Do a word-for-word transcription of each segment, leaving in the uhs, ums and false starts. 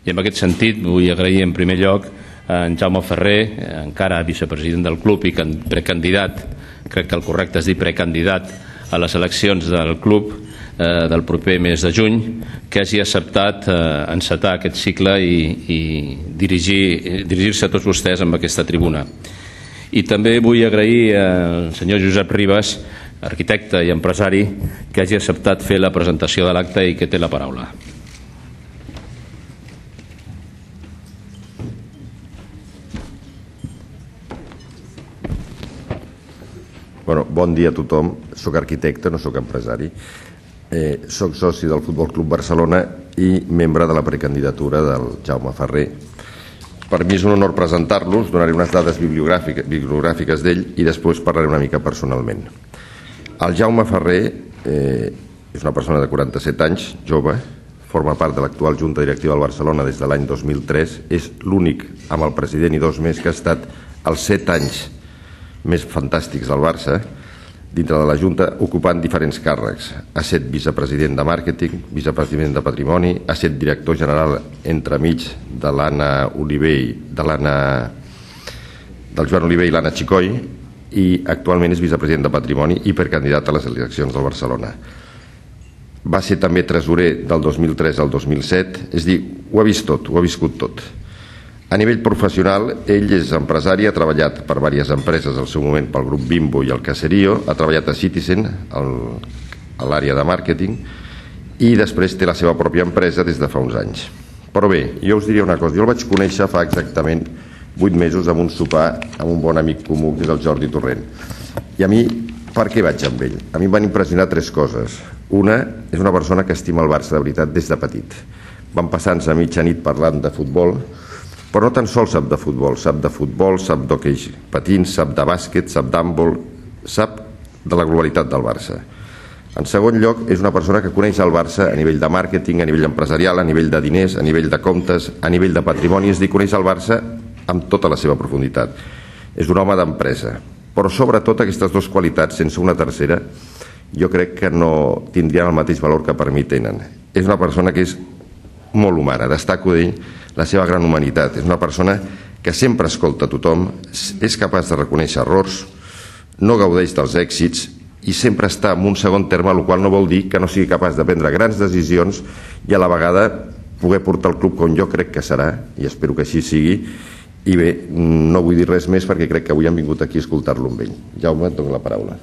I en aquest sentit vull agrair en primer lloc a en Jaume Ferrer, encara vicepresident del club i precandidat, crec que el correcte és dir precandidat a les eleccions del club del proper mes de juny, que hagi acceptat encetar aquest cicle i dirigir-se a tots vostès amb aquesta tribuna. I també vull agrair al senyor Josep Ribas, arquitecte i empresari, que hagi acceptat fer la presentació de l'acte i que té la paraula. Bon dia a tothom. Soc arquitecte, no soc empresari. Soc soci del Futbol Club Barcelona i membre de la precandidatura del Jaume Ferrer. Per mi és un honor presentar-los, donaré unes dades bibliogràfiques d'ell i després parlaré una mica personalment. El Jaume Ferrer és una persona de quaranta-set anys, jove, forma part de l'actual Junta Directiva del Barcelona des de l'any dos mil tres, és l'únic amb el president i dos més que ha estat els set anys més fantàstics del Barça dintre de la Junta, ocupant diferents càrrecs. Ha estat vicepresident de màrqueting, vicepresident de patrimoni, ha estat director general entremig de l'Anna Oliver, de l'Anna del Joan Oliver i l'Anna Xicoy, i actualment és vicepresident de patrimoni i precandidat a les eleccions del Barcelona. Va ser també tresorer del dos mil tres al dos mil set, és a dir, ho ha vist tot, ho ha viscut tot. A nivell professional, ell és empresari, ha treballat per diverses empreses al seu moment pel grup Bimbo i el Caserío, ha treballat a Citizen, a l'àrea de màrqueting, i després té la seva pròpia empresa des de fa uns anys. Però bé, jo us diria una cosa, jo el vaig conèixer fa exactament vuit mesos amb un sopar amb un bon amic comú, que és el Jordi Torrent. I a mi, per què vaig amb ell? A mi em van impressionar tres coses. Una, és una persona que estima el Barça de veritat des de petit. Vam passar-nos a mitja nit parlant de futbol, però no tan sols sap de futbol, sap de futbol, sap d'hoquei patins, sap de bàsquet, sap d'handbol, sap de la globalitat del Barça. En segon lloc, és una persona que coneix el Barça a nivell de màrqueting, a nivell empresarial, a nivell de diners, a nivell de comptes, a nivell de patrimoni, és a dir, coneix el Barça amb tota la seva profunditat. És un home d'empresa, però sobretot aquestes dues qualitats, sense una tercera, jo crec que no tindrien el mateix valor que per mi tenen. És una persona que és molt humana, destaco d'ell la seva gran humanitat. És una persona que sempre escolta a tothom, és capaç de reconèixer errors, no gaudeix dels èxits i sempre està en un segon terme, el qual no vol dir que no sigui capaç de prendre grans decisions i a la vegada poder portar el club com jo crec que serà, i espero que així sigui. I bé, no vull dir res més perquè crec que avui han vingut aquí a escoltar-lo amb ell. Jaume, et dono la paraula.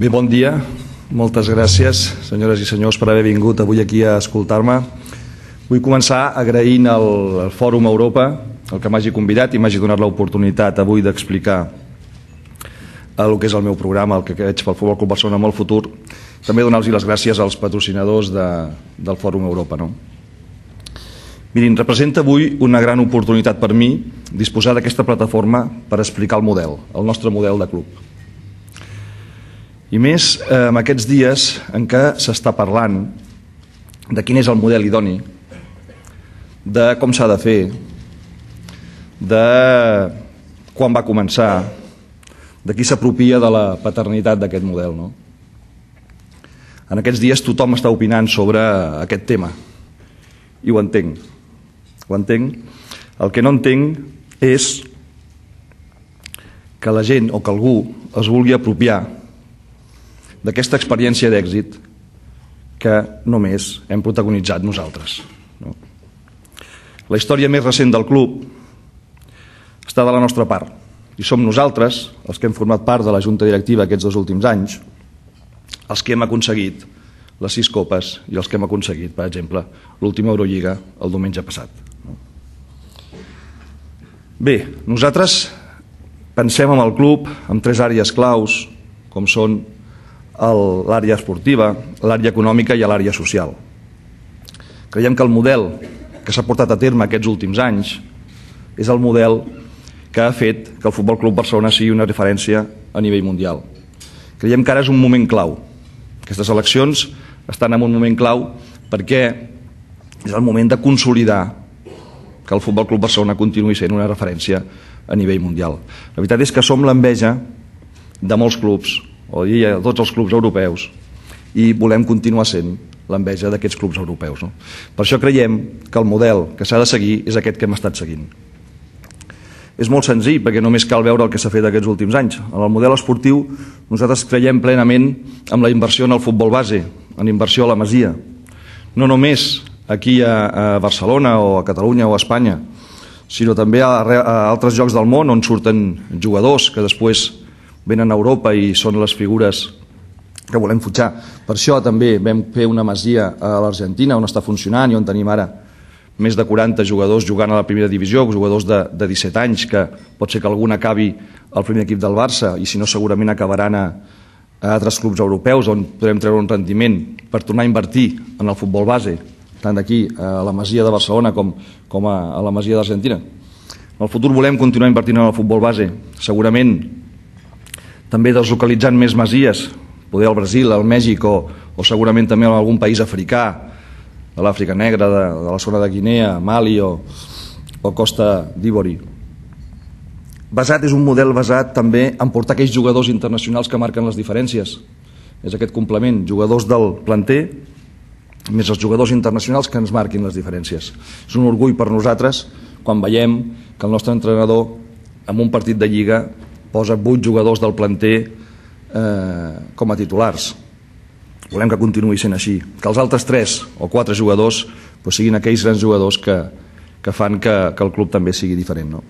Bé, bon dia. Moltes gràcies, senyores i senyors, per haver vingut avui aquí a escoltar-me. Vull començar agraint al Fòrum Europa el que m'hagi convidat i m'hagi donat l'oportunitat avui d'explicar el que és el meu programa, el que veig pel Futbol Club Barcelona en el futur. També donar-los les gràcies als patrocinadors del Fòrum Europa. Mirin, representa avui una gran oportunitat per mi disposar d'aquesta plataforma per explicar el model, el nostre model de club. I més en aquests dies en què s'està parlant de quin és el model idoni, de com s'ha de fer, de quan va començar, de qui s'apropia de la paternitat d'aquest model. En aquests dies tothom està opinant sobre aquest tema i ho entenc. Ho entenc. El que no entenc és que la gent o que algú es vulgui apropiar d'aquesta experiència d'èxit que només hem protagonitzat nosaltres. La història més recent del club està de la nostra part i som nosaltres, els que hem format part de la Junta Directiva aquests dos últims anys, els que hem aconseguit les sis copes i els que hem aconseguit, per exemple, l'última Eurolliga el diumenge passat. Bé, nosaltres pensem en el club amb tres àrees claus, com són l'àrea esportiva, l'àrea econòmica i l'àrea social. Creiem que el model que s'ha portat a terme aquests últims anys és el model que ha fet que el Futbol Club Barcelona sigui una referència a nivell mundial. Creiem que ara és un moment clau. Aquestes eleccions estan en un moment clau perquè és el moment de consolidar que el Futbol Club Barcelona continuï sent una referència a nivell mundial. La veritat és que som l'enveja de molts clubs, o de tots els clubs europeus, i volem continuar sent l'enveja d'aquests clubs europeus. No? Per això creiem que el model que s'ha de seguir és aquest que hem estat seguint. És molt senzill, perquè només cal veure el que s'ha fet aquests últims anys. En el model esportiu nosaltres creiem plenament en la inversió en el futbol base, en inversió a la Masia. No només aquí a Barcelona o a Catalunya o a Espanya, sinó també a altres llocs del món on surten jugadors que després venen a Europa i són les figures que volem fitxar. Per això també vam fer una Masia a l'Argentina on està funcionant i on tenim ara més de quaranta jugadors jugant a la primera divisió, jugadors de, de disset anys, que pot ser que algun acabi al primer equip del Barça i si no segurament acabaran a, a altres clubs europeus on podrem treure un rendiment per tornar a invertir en el futbol base, tant d'aquí a la Masia de Barcelona com, com a, a la Masia d'Argentina. En el futur volem continuar invertint en el futbol base, segurament també deslocalitzant més masies, poder al Brasil, al Mèxic o, o segurament també en algun país africà, de l'Àfrica Negra, de, de la zona de Guinea, Mali o, o Costa d'Ivori. Basat és un model basat també en portar aquells jugadors internacionals que marquen les diferències. És aquest complement, jugadors del planter més els jugadors internacionals que ens marquin les diferències. És un orgull per nosaltres quan veiem que el nostre entrenador en un partit de Lliga posa vuit jugadors del planter eh, com a titulars. Volem que continuï sent així, que els altres tres o quatre jugadors doncs, siguin aquells grans jugadors que, que fan que, que el club també sigui diferent. No?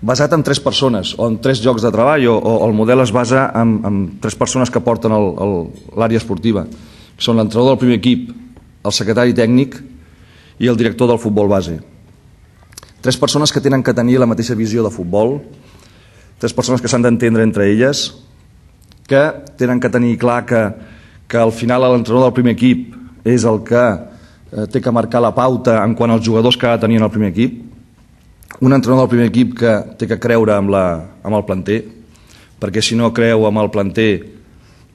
Basat en tres persones o en tres llocs de treball o, o el model es basa en, en tres persones que porten l'àrea esportiva, que són l'entrenador del primer equip, el secretari tècnic i el director del futbol base. Tres persones que tenen que tenir la mateixa visió de futbol, tres persones que s'han d'entendre entre elles, que tenen que tenir clar que, que al final l'entrenador del primer equip és el que eh, té que marcar la pauta en quant als jugadors que ha de tenir en el primer equip, un entrenador del primer equip que té que creure amb, la, amb el planter, perquè si no creu amb el planter,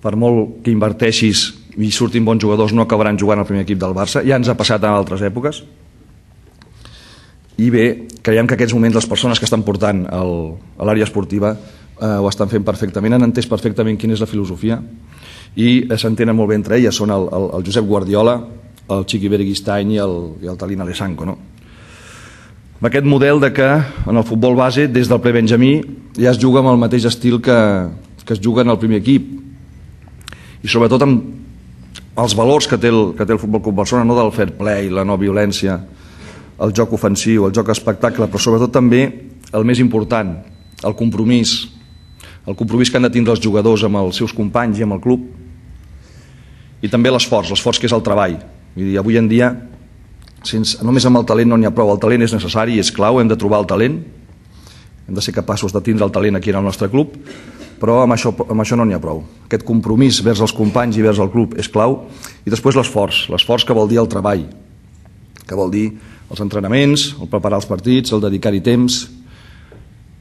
per molt que inverteixis i surtin bons jugadors no acabaran jugant al primer equip del Barça, ja ens ha passat en altres èpoques. I bé, creiem que aquests moments les persones que estan portant el, a l'àrea esportiva eh, ho estan fent perfectament, han entès perfectament quina és la filosofia i eh, s'entenen molt bé entre elles, són el, el, el Josep Guardiola, el Chiqui Beristain i el, i el Talin Alessanco. No? Amb aquest model de que en el futbol base, des del prebenjamí, ja es juga amb el mateix estil que, que es juga en el primer equip i sobretot amb els valors que té el, que té el Futbol Club Barcelona, no del fair play, la no violència, el joc ofensiu, el joc espectacle, però sobretot també el més important, el compromís, el compromís que han de tindre els jugadors amb els seus companys i amb el club, i també l'esforç, l'esforç que és el treball. Vull dir, avui en dia, sense, només amb el talent no n'hi ha prou, el talent és necessari i és clau, hem de trobar el talent, hem de ser capaços de tindre el talent aquí en el nostre club, però amb això, amb això no n'hi ha prou. Aquest compromís vers els companys i vers el club és clau, i després l'esforç, l'esforç que vol dir el treball, que vol dir els entrenaments, el preparar els partits, el dedicar-hi temps,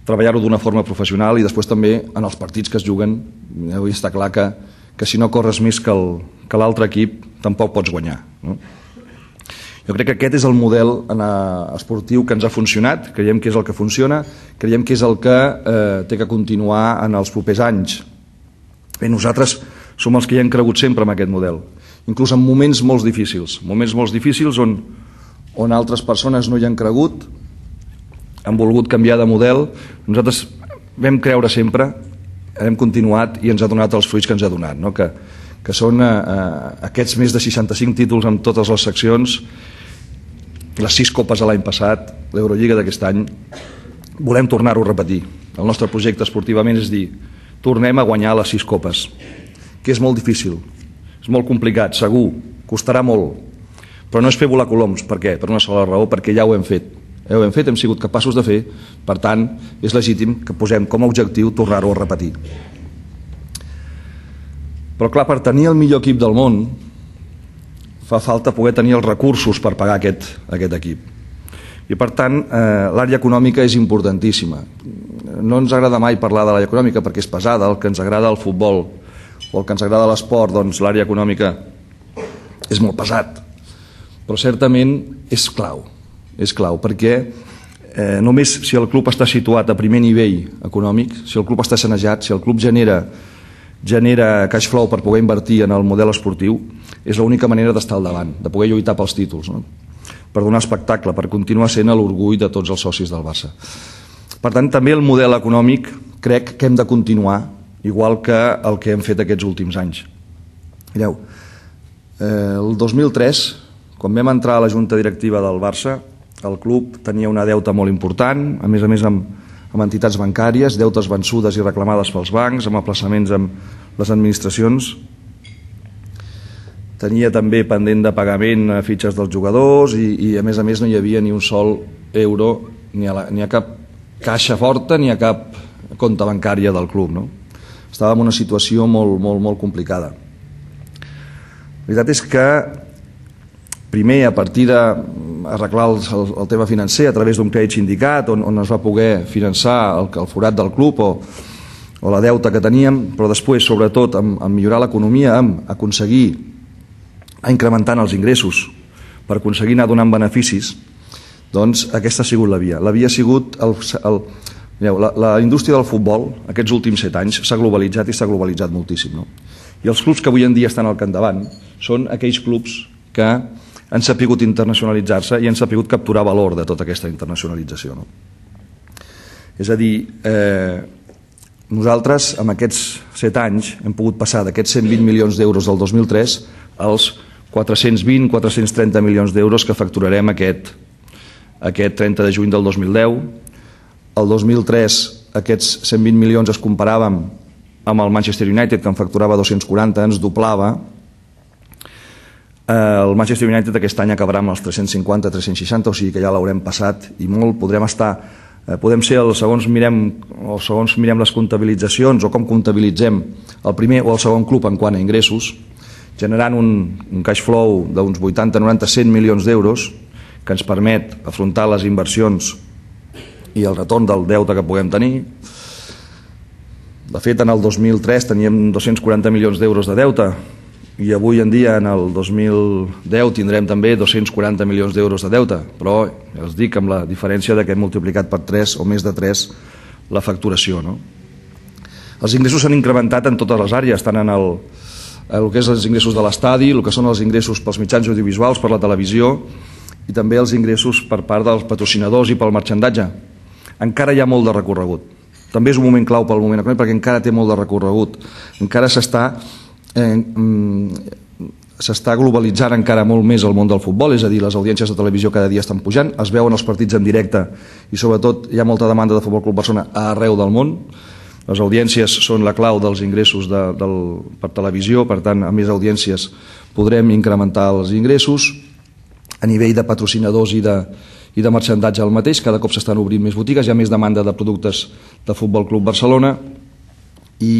treballar-ho d'una forma professional i després també en els partits que es juguen, avui està clar que, que si no corres més que l'altre equip tampoc pots guanyar. No? Jo crec que aquest és el model esportiu que ens ha funcionat, creiem que és el que funciona, creiem que és el que eh, té que continuar en els propers anys. Bé, nosaltres som els que hi hem cregut sempre en aquest model, inclús en moments molt difícils, moments molt difícils on on altres persones no hi han cregut, han volgut canviar de model, nosaltres vam creure sempre, hem continuat i ens ha donat els fruits que ens ha donat, no? que, que són eh, aquests més de seixanta-cinc títols en totes les seccions, les sis copes l'any passat, l'Eurolliga d'aquest any, volem tornar-ho a repetir. El nostre projecte esportivament és dir, tornem a guanyar les sis copes, que és molt difícil, és molt complicat, segur, costarà molt, però no és fer volar coloms. Per què? Per una sola raó, perquè ja ho hem fet. Ja ho hem fet, hem sigut capaços de fer, per tant, és legítim que posem com a objectiu tornar-ho a repetir. Però clar, per tenir el millor equip del món, fa falta poder tenir els recursos per pagar aquest, aquest equip. I per tant, eh, l'àrea econòmica és importantíssima. No ens agrada mai parlar de l'àrea econòmica perquè és pesada, el que ens agrada el futbol o el que ens agrada l'esport, doncs l'àrea econòmica és molt pesat. Però certament és clau. és clau, perquè eh, només si el club està situat a primer nivell econòmic, si el club està sanejat, si el club genera genera cash flow per poder invertir en el model esportiu, és l'única manera d'estar al davant, de poder lluitar pels títols, no? Per donar espectacle, per continuar sent l'orgull de tots els socis del Barça. Per tant, també el model econòmic crec que hem de continuar, igual que el que hem fet aquests últims anys. Mireu, eh, el dos mil tres, quan vam entrar a la junta directiva del Barça, el club tenia una deuta molt important, a més a més amb amb entitats bancàries, deutes vençudes i reclamades pels bancs, amb aplaçaments amb les administracions. Tenia també pendent de pagament a fitxes dels jugadors i, i a més a més no hi havia ni un sol euro ni a, la, ni a cap caixa forta ni a cap compte bancària del club, no? Estàvem en una situació molt, molt, molt complicada. La veritat és que primer, a partir d'arreglar el, el, el tema financer a través d'un crèdit sindicat on, on es va poder finançar el, el forat del club o, o la deuta que teníem, però després, sobretot, amb, amb millorar l'economia, amb aconseguir a incrementant els ingressos per aconseguir anar donant beneficis, doncs aquesta ha sigut la via. La via ha sigut... El, el, mireu, la, la indústria del futbol, aquests últims set anys, s'ha globalitzat i s'ha globalitzat moltíssim, no? I els clubs que avui en dia estan al capdavant són aquells clubs que han sapigut internacionalitzar-se i han sapigut capturar valor de tota aquesta internacionalització, no? És a dir, eh, nosaltres amb aquests set anys hem pogut passar d'aquests cent vint milions d'euros del dos mil tres als quatre-cents vint a quatre-cents trenta milions d'euros que facturarem aquest, aquest trenta de juny del dos mil deu. El dos mil tres aquests cent vint milions es comparàvem amb el Manchester United, que en facturava dos-cents quaranta, ens doblava. El Manchester United aquest any acabarà amb els tres-cents cinquanta a tres-cents seixanta, o sigui que ja l'haurem passat i molt. Podrem estar, podem ser, el, segons mirem o segons mirem les comptabilitzacions o com comptabilitzem el primer o el segon club en quant a ingressos, generant un, un cash flow d'uns vuitanta, noranta, cent milions d'euros que ens permet afrontar les inversions i el retorn del deute que puguem tenir. De fet, en el dos mil tres teníem dos-cents quaranta milions d'euros de deute i avui en dia, en el dos mil deu, tindrem també dos-cents quaranta milions d'euros de deute, però ja us dic amb la diferència de que hem multiplicat per tres o més de tres la facturació, no? Els ingressos s'han incrementat en totes les àrees, tant en el, el que és els ingressos de l'estadi, el que són els ingressos pels mitjans audiovisuals, per la televisió, i també els ingressos per part dels patrocinadors i pel marxandatge. Encara hi ha molt de recorregut. També és un moment clau pel moment econòmic perquè encara té molt de recorregut. Encara s'està eh, s'està globalitzant encara molt més el món del futbol, és a dir, les audiències de televisió cada dia estan pujant, es veuen els partits en directe i sobretot hi ha molta demanda de Futbol Club Barcelona arreu del món. Les audiències són la clau dels ingressos de, del, per televisió, per tant, a més audiències podrem incrementar els ingressos. A nivell de patrocinadors i de, i de marxandatge el mateix, cada cop s'estan obrint més botigues, hi ha més demanda de productes de Futbol Club Barcelona i,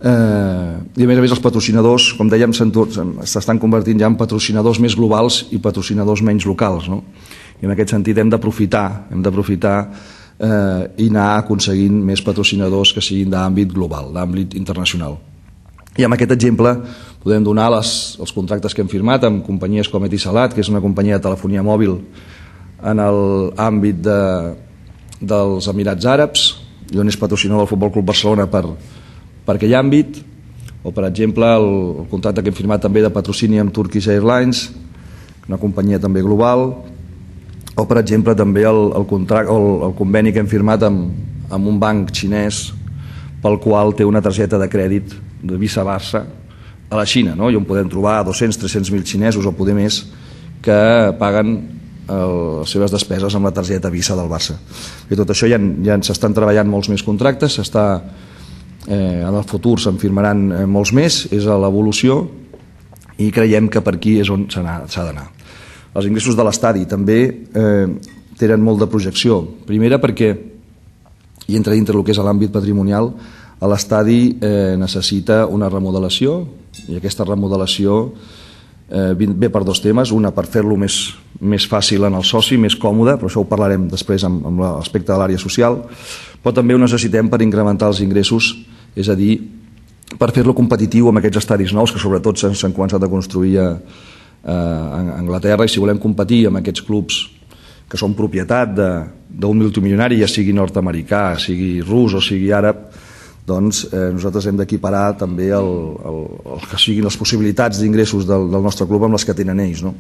eh, i a més a més els patrocinadors, com dèiem, s'estan convertint ja en patrocinadors més globals i patrocinadors menys locals, no? I en aquest sentit hem d'aprofitar hem d'aprofitar eh, i anar aconseguint més patrocinadors que siguin d'àmbit global, d'àmbit internacional. I amb aquest exemple podem donar les, els contractes que hem firmat amb companyies com Etisalat, que és una companyia de telefonia mòbil en l'àmbit de, dels Emirats Àrabs, i on és patrocinador del Futbol Club Barcelona per, per aquell àmbit, o per exemple el, el contracte que hem firmat també de patrocini amb Turkish Airlines, una companyia també global, o per exemple també el, el, contract, el, el conveni que hem firmat amb, amb un banc xinès pel qual té una targeta de crèdit de Visa Barça a la Xina, no? I on podem trobar dos-cents a tres-cents mil xinesos o poder més que paguen el, les seves despeses amb la targeta Visa del Barça. I tot això ja, ja s'estan treballant molts més contractes, s'està, eh, en el futur se'n firmaran eh, molts més, és a l'evolució i creiem que per aquí és on s'ha d'anar. Els ingressos de l'estadi també eh, tenen molt de projecció. Primera perquè, i entra dintre el que és l'àmbit patrimonial, l'estadi eh, necessita una remodelació i aquesta remodelació eh, ve per dos temes. Una, per fer-lo més, més fàcil en el soci, més còmode, però això ho parlarem després amb, amb l'aspecte de l'àrea social, però també ho necessitem per incrementar els ingressos, és a dir, per fer-lo competitiu amb aquests estadis nous que sobretot s'han començat a construir a, a Anglaterra, i si volem competir amb aquests clubs que són propietat d'un multimilionari, ja sigui nord-americà, sigui rus o sigui àrab, doncs eh, nosaltres hem d'equiparar també el, el, el que siguin les possibilitats d'ingressos del, del nostre club amb les que tenen ells, no?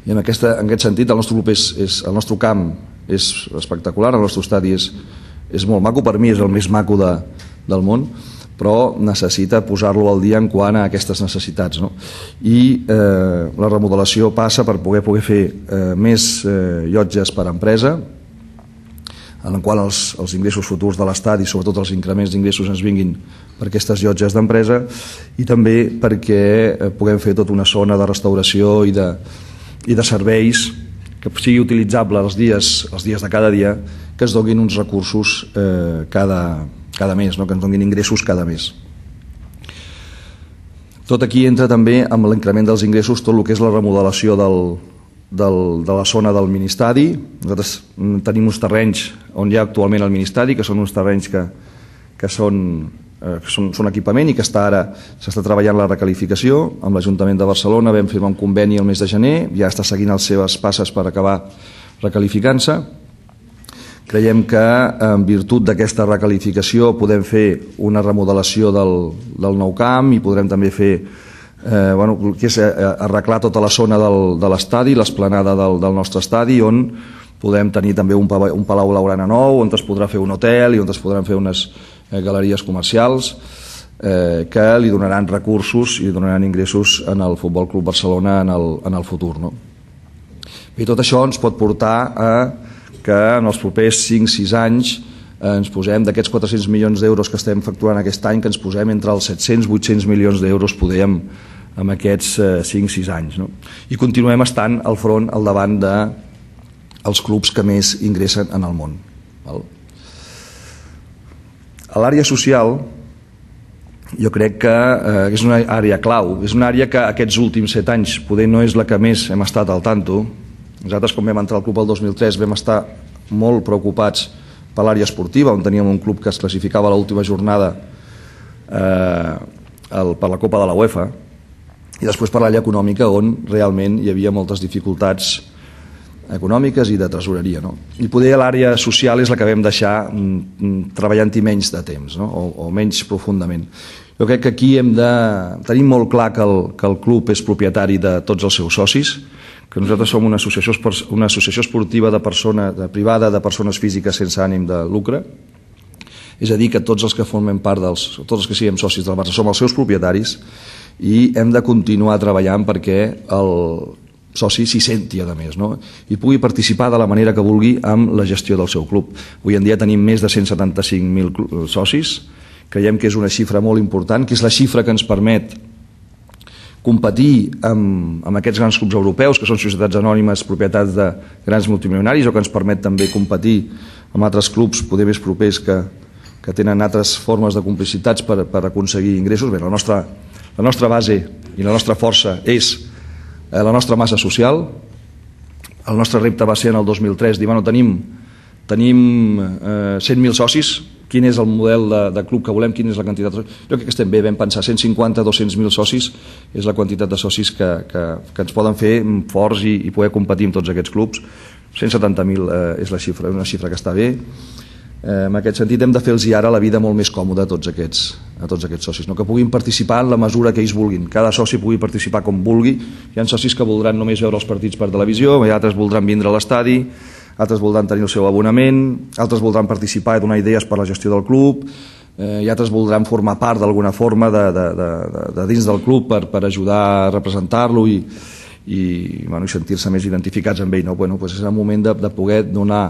I en, aquesta, en aquest sentit el nostre club és, és, el nostre camp és espectacular, el nostre estadi és, és molt maco, per mi és el més maco de, del món, però necessita posar-lo al dia en quant a aquestes necessitats, no? I eh, la remodelació passa per poder, poder fer eh, més eh, llotges per empresa, en el qual els, els ingressos futurs de l'estadi, sobretot els increments d'ingressos, ens vinguin per aquestes llotges d'empresa, i també perquè eh, puguem fer tota una zona de restauració i de, i de serveis que sigui utilitzable els dies, els dies de cada dia, que es donin uns recursos eh, cada, cada mes, no? Que ens donin ingressos cada mes. Tot aquí entra també amb l'increment dels ingressos tot el que és la remodelació del, del, de la zona del ministadi. Nosaltres tenim uns terrenys on hi ha actualment el ministadi, que són uns terrenys que, que són que són, són equipament i que està ara s'està treballant la recalificació amb l'Ajuntament de Barcelona. Vam firmar un conveni el mes de gener, ja està seguint les seves passes per acabar recalificant-se. Creiem que en virtut d'aquesta recalificació podem fer una remodelació del, del nou camp i podrem també fer eh, bueno, que és arreglar tota la zona del, de l'estadi, l'esplanada del, del nostre estadi, on podem tenir també un, un palau blaugrana nou, on es podrà fer un hotel i on es podran fer unes galeries comercials eh, que li donaran recursos i donaran ingressos en el Futbol Club Barcelona en el, en el futur, no? I tot això ens pot portar a que en els propers cinc sis anys eh, ens posem d'aquests quatre-cents milions d'euros que estem facturant aquest any, que ens posem entre els set-cents i vuit-cents milions d'euros podem en aquests eh, cinc sis anys, no? I continuem estant al front, al davant de els clubs que més ingressen en el món, val? A l'àrea social jo crec que eh, és una àrea clau, és una àrea que aquests últims set anys poder no és la que més hem estat al tanto. Nosaltres, quan vam entrar al club el dos mil tres, vam estar molt preocupats per l'àrea esportiva, on teníem un club que es classificava a l'última jornada eh, el, per la Copa de la UEFA, i després per l'àrea econòmica, on realment hi havia moltes dificultats econòmiques i de tresoreria, no? I poder l'àrea social és la que vam deixar mm, treballant-hi menys de temps, no? o, o menys profundament. Jo crec que aquí hem de tenir molt clar que el, que el club és propietari de tots els seus socis, que nosaltres som una associació, una associació esportiva de persona, de privada de persones físiques sense ànim de lucre, és a dir, que tots els que formen part dels, tots els que siguem socis del Barça som els seus propietaris, i hem de continuar treballant perquè el soci s'hi senti, a més, no? I pugui participar de la manera que vulgui amb la gestió del seu club. Avui en dia tenim més de cent setanta-cinc mil socis, creiem que és una xifra molt important, que és la xifra que ens permet competir amb, amb aquests grans clubs europeus, que són societats anònimes, propietats de grans multimilionaris, o que ens permet també competir amb altres clubs poder més propers que, que tenen altres formes de complicitats per, per aconseguir ingressos. Bé, la nostra, la nostra base i la nostra força és la nostra massa social. El nostre repte va ser en el dos mil tres dir, bueno, tenim, tenim eh, cent mil socis, quin és el model de, de club que volem, quina és la quantitat de socis. Jo crec que estem bé, vam pensar cent cinquanta a dos-cents mil socis és la quantitat de socis que, que, que ens poden fer forts i, i poder competir amb tots aquests clubs. cent setanta mil eh, és la xifra, una xifra que està bé. Eh, en aquest sentit hem de fer-los ara la vida molt més còmoda a tots aquests, a tots aquests socis, no? Que puguin participar en la mesura que ells vulguin, cada soci pugui participar com vulgui. Hi ha socis que voldran només veure els partits per televisió, i altres voldran vindre a l'estadi, altres voldran tenir el seu abonament, altres voldran participar i donar idees per la gestió del club, eh, i altres voldran formar part d'alguna forma de, de, de, de, de dins del club per, per ajudar a representar-lo i, i, bueno, i sentir-se més identificats amb ell, no? Bueno, doncs és el moment de, de poder donar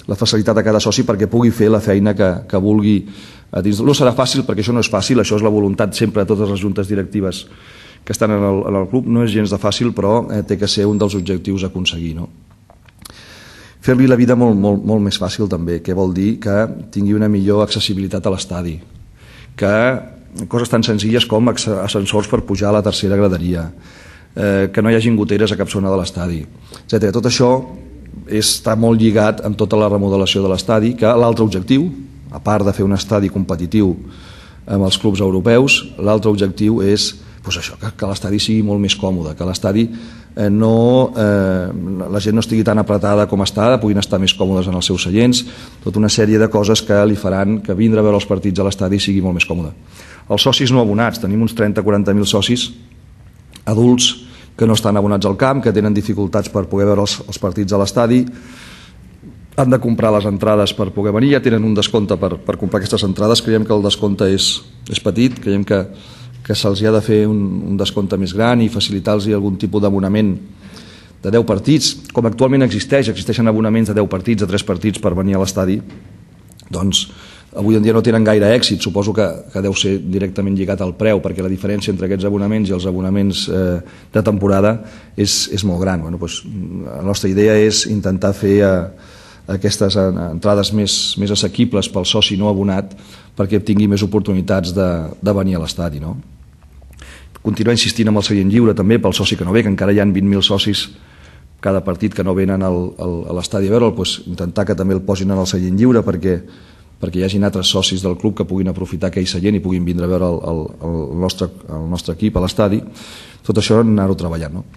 la facilitat a cada soci perquè pugui fer la feina que, que vulgui a dins. No serà fàcil, perquè això no és fàcil, això és la voluntat sempre de totes les juntes directives que estan en el, en el club, no és gens de fàcil, però eh, té que ser un dels objectius a aconseguir, no? Fer-li la vida molt, molt, molt més fàcil també, que vol dir que tingui una millor accessibilitat a l'estadi, que coses tan senzilles com ascensors per pujar a la tercera graderia, eh, que no hi hagi goteres a cap zona de l'estadi, etcètera. Tot això està molt lligat amb tota la remodelació de l'estadi, que l'altre objectiu, a part de fer un estadi competitiu amb els clubs europeus, l'altre objectiu és doncs això, que, que l'estadi sigui molt més còmode, que l'estadi no, eh, la gent no estigui tan apretada com està, puguin estar més còmodes en els seus seients, tota una sèrie de coses que li faran que vindre a veure els partits a l'estadi sigui molt més còmode. Els socis no abonats, tenim uns trenta a quaranta mil socis adults que no estan abonats al camp, que tenen dificultats per poder veure els, els partits a l'estadi, han de comprar les entrades per poder venir, ja tenen un descompte per, per comprar aquestes entrades, creiem que el descompte és, és petit, creiem que, que se'ls ha de fer un, un descompte més gran i facilitar-los algun tipus d'abonament de deu partits, com actualment existeix, existeixen abonaments de deu partits, de tres partits per venir a l'estadi, doncs avui en dia no tenen gaire èxit, suposo que, que deu ser directament lligat al preu, perquè la diferència entre aquests abonaments i els abonaments eh, de temporada és, és molt gran. Bueno, doncs, la nostra idea és intentar fer eh, aquestes entrades més, més assequibles pel soci no abonat perquè tingui més oportunitats de, de venir a l'estadi, no? Continuar insistint amb el seient lliure també pel soci que no ve, que encara hi ha vint mil socis cada partit que no venen al, al, a l'estadi a veure'l, doncs intentar que també el posin en el seient lliure perquè, perquè hi hagin altres socis del club que puguin aprofitar aquell seient i puguin vindre a veure el, el, el, nostre, el nostre equip a l'estadi. Tot això anar-ho treballant, no?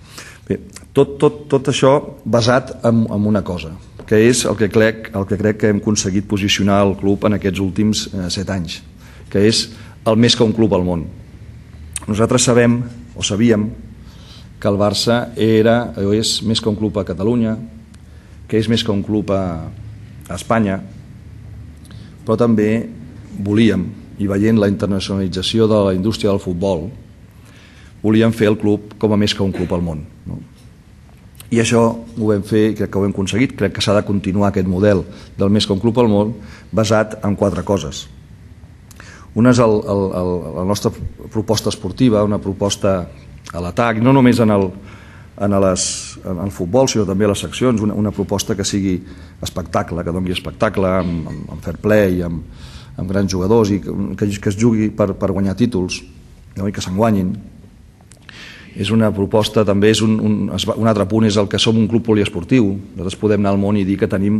Bé, tot, tot, tot això basat en, en una cosa, que és el que, crec, el que crec que hem aconseguit posicionar el club en aquests últims eh, set anys, que és el més que un club al món. Nosaltres sabem, o sabíem, que el Barça era, o és més que un club a Catalunya, que és més que un club a, a Espanya, però també volíem, i veient la internacionalització de la indústria del futbol, volíem fer el club com a més que un club al món, no? I això ho vam fer i crec que ho hem aconseguit. Crec que s'ha de continuar aquest model del més que un club al món basat en quatre coses. Una és el, el, el, la nostra proposta esportiva, una proposta a l'atac, no només en el, en, les, en el futbol, sinó també a les seccions, una, una proposta que sigui espectacle, que doni espectacle, amb, amb, amb fair play, amb, amb grans jugadors i que, que es jugui per, per guanyar títols, no? I que se'n guanyin. És una proposta, també és un, un, un altre punt, és el que som un club poliesportiu. Nosaltres podem anar al món i dir que tenim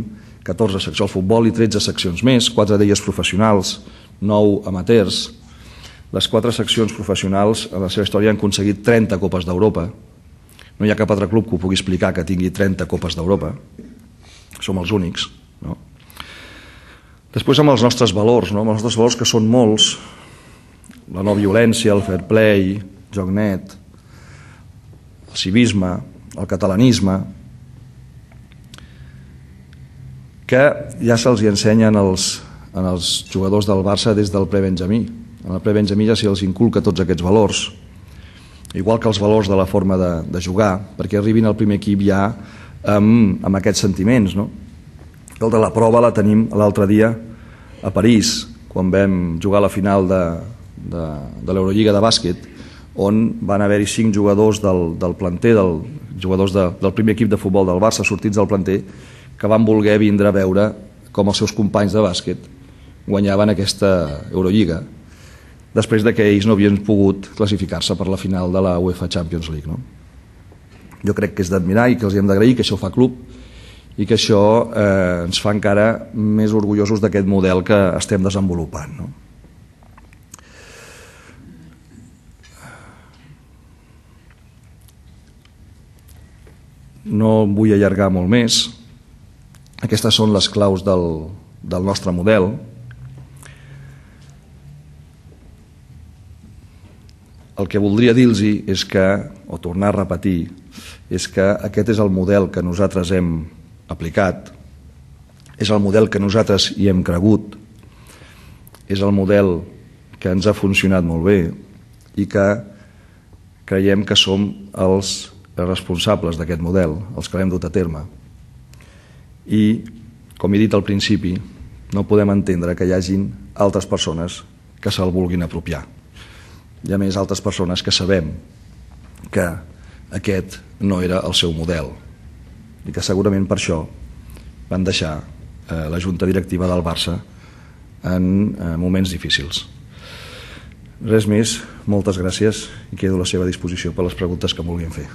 catorze seccions al futbol i tretze seccions més, quatre d'elles professionals, nou amateurs. Les quatre seccions professionals a la seva història han aconseguit trenta copes d'Europa. No hi ha cap altre club que ho pugui explicar que tingui trenta copes d'Europa. Som els únics, no? Després amb els nostres valors, no? Amb els nostres valors que són molts, la no violència, el fair play, joc net, el civisme, el catalanisme, que ja se'ls ensenyen els, en els jugadors del Barça des del pre-benjamí. En el pre-benjamí ja se'ls inculca tots aquests valors, igual que els valors de la forma de, de jugar, perquè arribin al primer equip ja amb, amb aquests sentiments, no? El de la prova la tenim l'altre dia a París, quan vam jugar la final de, de, de l'Eurolliga de bàsquet, on van haver-hi cinc jugadors del, del planter, del, jugadors de, del primer equip de futbol del Barça, sortits del planter, que van voler vindre a veure com els seus companys de bàsquet guanyaven aquesta Eurolliga, després de que ells no havien pogut classificar-se per la final de la UEFA Champions League, no? Jo crec que és d'admirar i que els hem d'agrair, que això fa club i que això eh, ens fa encara més orgullosos d'aquest model que estem desenvolupant, no? No vull allargar molt més. Aquestes són les claus del, del nostre model. El que voldria dir-los és que, o tornar a repetir, és que aquest és el model que nosaltres hem aplicat, és el model que nosaltres hi hem cregut, és el model que ens ha funcionat molt bé i que creiem que som els responsables d'aquest model, els que l'hem dut a terme. I, com he dit al principi, no podem entendre que hi hagin altres persones que se'l vulguin apropiar. Hi ha més altres persones que sabem que aquest no era el seu model i que segurament per això van deixar eh, la junta directiva del Barça en eh, moments difícils. Res més, moltes gràcies i quedo a la seva disposició per les preguntes que em vulguin fer.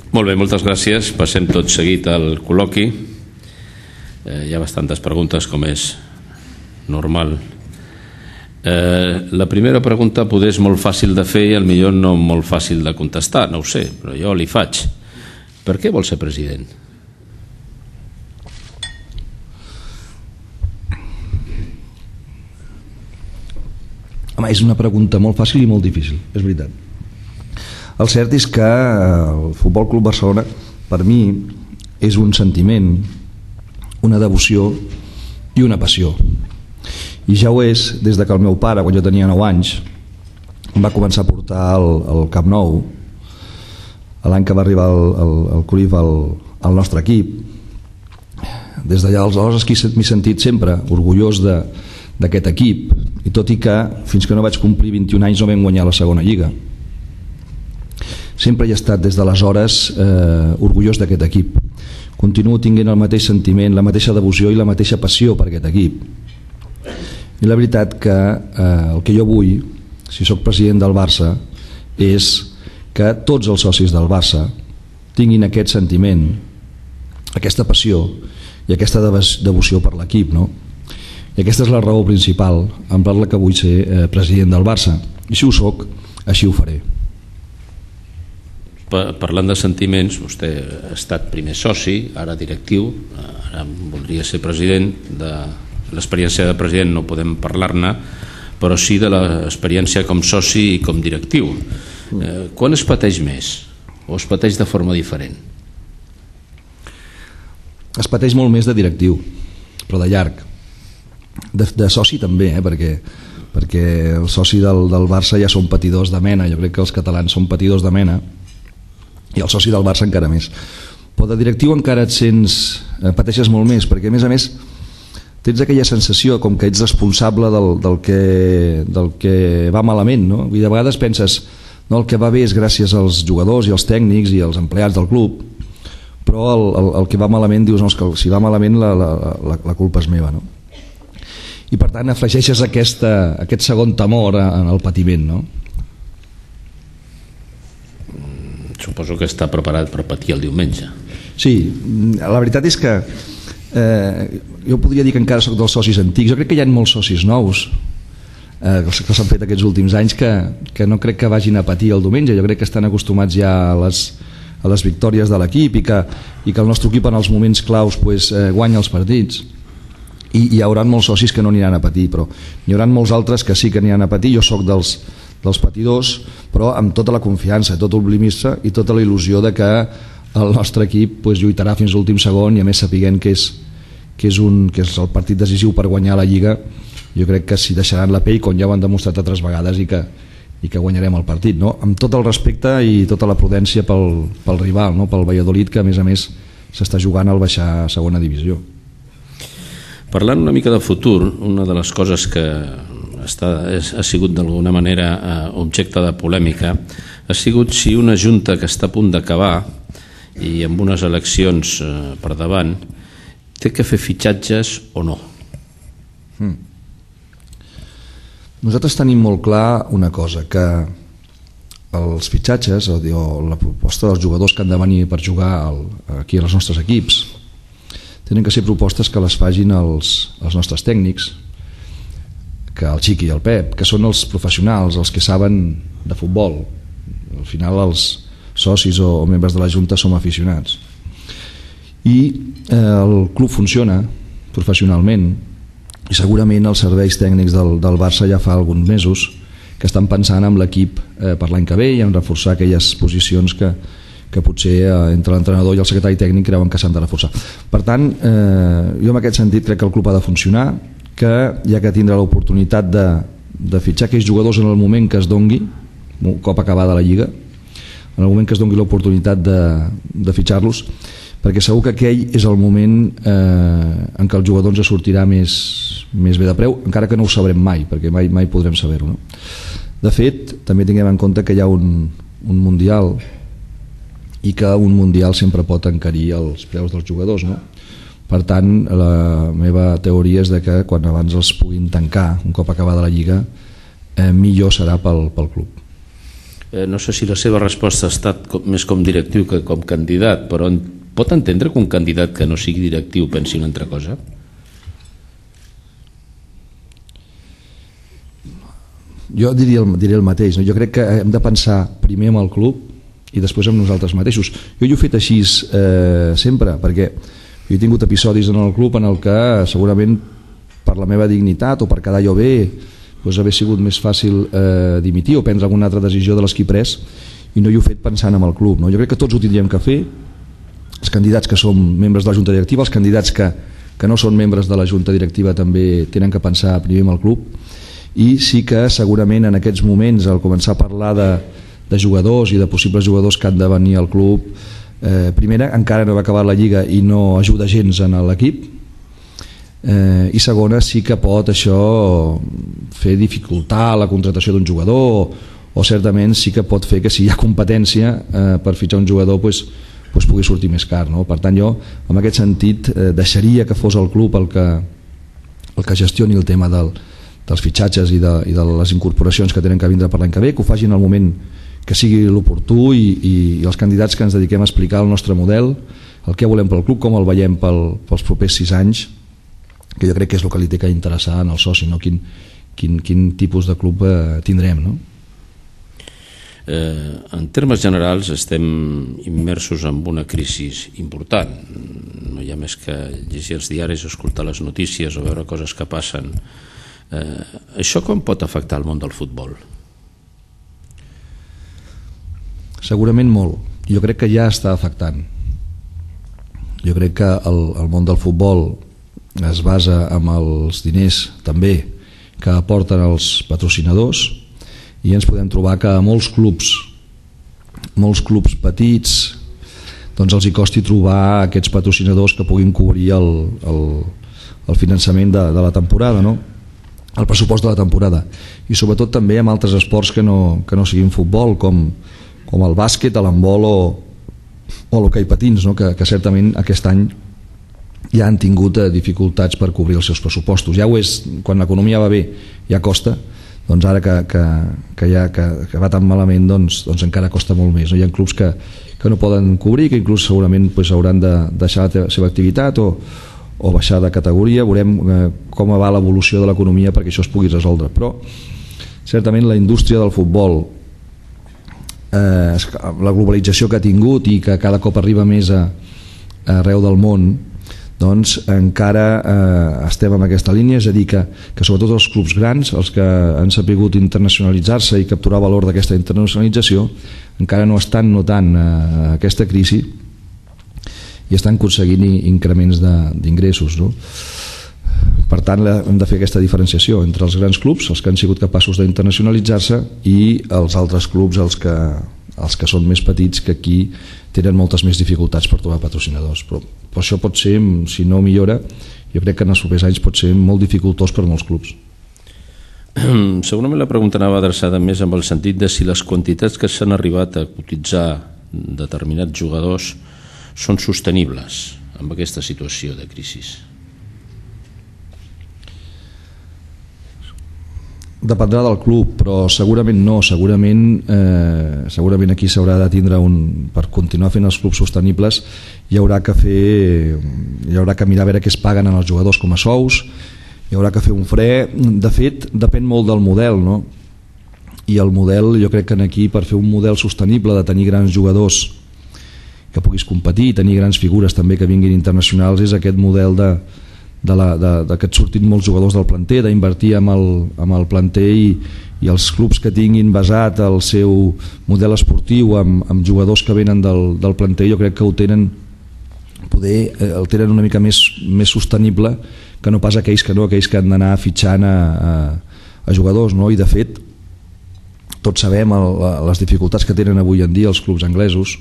Molt bé, moltes gràcies. Passem tot seguit al col·loqui. hi ha bastantes preguntes, com és normal. La primera pregunta poder és molt fàcil de fer i potser no molt fàcil de contestar, no ho sé, però jo li faig. Per què vol ser president? Home, és una pregunta molt fàcil i molt difícil, és veritat. El cert és que el Futbol Club Barcelona, per mi, és un sentiment, una devoció i una passió. I ja ho és des de que el meu pare, quan jo tenia nou anys, em va començar a portar al, al Camp Nou, l'any que va arribar el, el, el Cruyff al, al nostre equip. Des d'allà aleshores m'he sentit sempre orgullós de, d'aquest equip, i tot i que fins que no vaig complir vint-i-un anys no vam guanyar la segona lliga. Sempre he estat des d'aleshores eh, orgullós d'aquest equip. Continuo tinguent el mateix sentiment, la mateixa devoció i la mateixa passió per aquest equip. I la veritat que eh, el que jo vull, si sóc president del Barça, és que tots els socis del Barça tinguin aquest sentiment, aquesta passió i aquesta devoció per l'equip, no? I aquesta és la raó principal en per la que vull ser eh, president del Barça. I si ho soc, així ho faré. Parlant de sentiments, vostè ha estat primer soci, ara directiu, ara voldria ser president. De l'experiència de president no podem parlar-ne, però sí de l'experiència com soci i com directiu. Eh, quan es pateix més? O es pateix de forma diferent? Es pateix molt més de directiu, però de llarg. De, de soci també, eh, perquè, perquè el soci del, del Barça ja són patidors de mena. Jo crec que els catalans són patidors de mena, i el soci del Barça encara més. Però de directiu encara et sents, eh, pateixes molt més, perquè a més a més tens aquella sensació com que ets responsable del, del, que, del que va malament, no? I de vegades penses, no, el que va bé és gràcies als jugadors i als tècnics i als empleats del club, però el, el, el que va malament dius, no, que si va malament la, la, la, la culpa és meva, no? I per tant afegeixes aquesta, aquest segon temor en el patiment, no? Suposo que està preparat per patir el diumenge. Sí, la veritat és que eh, jo podria dir que encara soc dels socis antics. Jo crec que hi ha molts socis nous eh, que s'han fet aquests últims anys que, que no crec que vagin a patir el diumenge. Jo crec que estan acostumats ja a les, a les victòries de l'equip i que, i que el nostre equip en els moments claus pues, eh, guanya els partits. I hi haurà molts socis que no aniran a patir, però hi haurà molts altres que sí que aniran a patir. Jo sóc dels, dels patidors, però amb tota la confiança, tot l'optimisme i tota la il·lusió de que el nostre equip pues, lluitarà fins a l'últim segon, i a més sapiguent que és, que, és un, que és el partit decisiu per guanyar la Lliga. Jo crec que s'hi deixaran la pell, com ja ho han demostrat altres vegades, i que, i que guanyarem el partit, no? Amb tot el respecte i tota la prudència pel, pel rival, no? Pel Valladolid, que a més a més s'està jugant al baixar a segona divisió. Parlant una mica de futur, una de les coses que està, ha sigut d'alguna manera objecte de polèmica ha sigut si una junta que està a punt d'acabar i amb unes eleccions per davant té que fer fitxatges o no. Hmm. Nosaltres tenim molt clar una cosa, que els fitxatges o la proposta dels jugadors que han de venir per jugar aquí als nostres equips tenen que ser propostes que les facin els, els nostres tècnics, que el Xiqui i el Pep, que són els professionals, els que saben de futbol. Al final els socis o, o membres de la Junta som aficionats. I eh, el club funciona professionalment i segurament els serveis tècnics del, del Barça ja fa alguns mesos que estan pensant en l'equip eh, per l'any que ve i en reforçar aquelles posicions que que potser eh, entre l'entrenador i el secretari tècnic creuen que s'han de reforçar. Per tant, eh, jo en aquest sentit crec que el club ha de funcionar, que hi ha que tindre l'oportunitat de, de fitxar aquells jugadors en el moment que es dongui, un cop acabada la Lliga, en el moment que es dongui l'oportunitat de, de fitxar-los, perquè segur que aquell és el moment eh, en què el jugador ens sortirà més, més bé de preu, encara que no ho sabrem mai, perquè mai, mai podrem saber-ho, no? De fet, també tinguem en compte que hi ha un, un Mundial i que un Mundial sempre pot encarir els preus dels jugadors, no? Per tant, la meva teoria és de que quan abans els puguin tancar un cop acabada la Lliga, eh, millor serà pel, pel club. Eh, no sé si la seva resposta ha estat com, més com directiu que com candidat, però pot entendre que un candidat que no sigui directiu pensi una altra cosa? Jo diria el, diria el mateix, no? Jo crec que hem de pensar primer en el club i després en nosaltres mateixos. Jo hi he fet així eh, sempre, perquè jo he tingut episodis en el club en el que segurament per la meva dignitat o per quedar jo bé doncs hauria sigut més fàcil eh, dimitir o prendre alguna altra decisió de les que he pres, i no hi he fet pensant en el club, no? Jo crec que tots ho tindríem que fer, els candidats que som membres de la junta directiva, els candidats que, que no són membres de la junta directiva també tenen que pensar primer en el club. I sí que segurament en aquests moments, al començar a parlar de, de jugadors i de possibles jugadors que han de venir al club, eh, primera, encara no va acabar la Lliga i no ajuda gens en l'equip, eh, i segona, sí que pot això fer dificultar la contratació d'un jugador, o, o certament sí que pot fer que si hi ha competència eh, per fitxar un jugador pues, pues pugui sortir més car, no? Per tant, jo en aquest sentit eh, deixaria que fos el club el que, el que gestioni el tema del dels fitxatges i de, i de les incorporacions que tenen que vindre per l'any que ve, que ho facin al moment que sigui l'oportú, i, i, i els candidats que ens dediquem a explicar el nostre model, el que volem pel club, com el veiem pel, pels propers sis anys, que jo crec que és el que li té que interessar en el soci, no? quin, quin, quin tipus de club eh, tindrem, no? Eh, en termes generals estem immersos en una crisi important. No hi ha més que llegir els diaris, escoltar les notícies o veure coses que passen. Eh, això com pot afectar el món del futbol? Segurament molt. Jo crec que ja està afectant. Jo crec que el, el món del futbol es basa en els diners també que aporten els patrocinadors, i ens podem trobar que a molts clubs molts clubs petits doncs els hi costi trobar aquests patrocinadors que puguin cobrir el, el, el finançament de, de la temporada, no? El pressupost de la temporada, i sobretot també amb altres esports que no, que no siguin futbol, com, com el bàsquet, l'handbol o, o l'hoquei patins, no? que, que certament aquest any ja han tingut eh, dificultats per cobrir els seus pressupostos. Ja ho és, quan l'economia va bé ja costa, doncs ara que, que, que, ja, que, que va tan malament doncs, doncs encara costa molt més, no? Hi ha clubs que, que no poden cobrir, que inclús segurament doncs, hauran de deixar la seva activitat o o baixar de categoria. Veurem eh, com va l'evolució de l'economia perquè això es pugui resoldre, però certament la indústria del futbol, eh, la globalització que ha tingut i que cada cop arriba més a, a arreu del món, doncs encara eh, estem en aquesta línia, és a dir que, que sobretot els clubs grans, els que han sapigut internacionalitzar-se i capturar valor d'aquesta internacionalització, encara no estan notant eh, aquesta crisi i estan aconseguint increments d'ingressos, no? Per tant, hem de fer aquesta diferenciació entre els grans clubs, els que han sigut capaços d'internacionalitzar-se, i els altres clubs, els que, els que són més petits, que aquí tenen moltes més dificultats per trobar patrocinadors. Però, però això pot ser, si no millora, jo crec que en els propers anys pot ser molt dificultós per molts clubs. Segurament la pregunta anava adreçada més amb el sentit de si les quantitats que s'han arribat a cotitzar determinats jugadors són sostenibles amb aquesta situació de crisi. Dependrà del club, però segurament no, segurament, eh, segurament aquí s'haurà de tindre un, per continuar fent els clubs sostenibles hi haurà que fer hi haurà que mirar a veure què es paguen als jugadors com a sous, hi haurà que fer un fre. De fet, depèn molt del model, no? I el model, jo crec que aquí, per fer un model sostenible de tenir grans jugadors que puguis competir, tenir grans figures també que vinguin internacionals, és aquest model de, de, la, de, de que et surtin molts jugadors del planter, d'invertir amb el, amb el planter, i, i els clubs que tinguin basat el seu model esportiu amb, amb jugadors que venen del, del planter, jo crec que ho tenen, poder, eh, el tenen una mica més, més sostenible que no pas aquells que no, aquells que han d'anar fitxant a, a, a jugadors, no? I de fet tots sabem el, les dificultats que tenen avui en dia els clubs anglesos,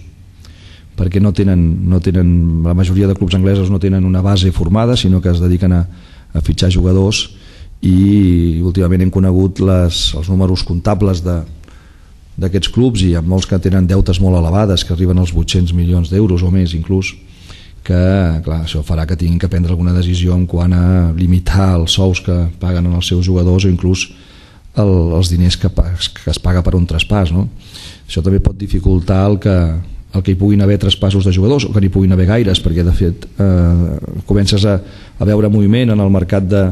perquè no tenen, no tenen, la majoria de clubs anglesos no tenen una base formada, sinó que es dediquen a, a fitxar jugadors, i últimament hem conegut les, els números comptables d'aquests clubs, i hi ha molts que tenen deutes molt elevades, que arriben als vuit-cents milions d'euros o més inclús, que clar, això farà que tinguin que prendre alguna decisió en quant a limitar els sous que paguen als seus jugadors, o inclús el, els diners que, que es paga per un traspàs, no? Això també pot dificultar el que el que hi puguin haver traspassos de jugadors, o que n'hi puguin haver gaires, perquè de fet eh, comences a, a veure moviment en el mercat de,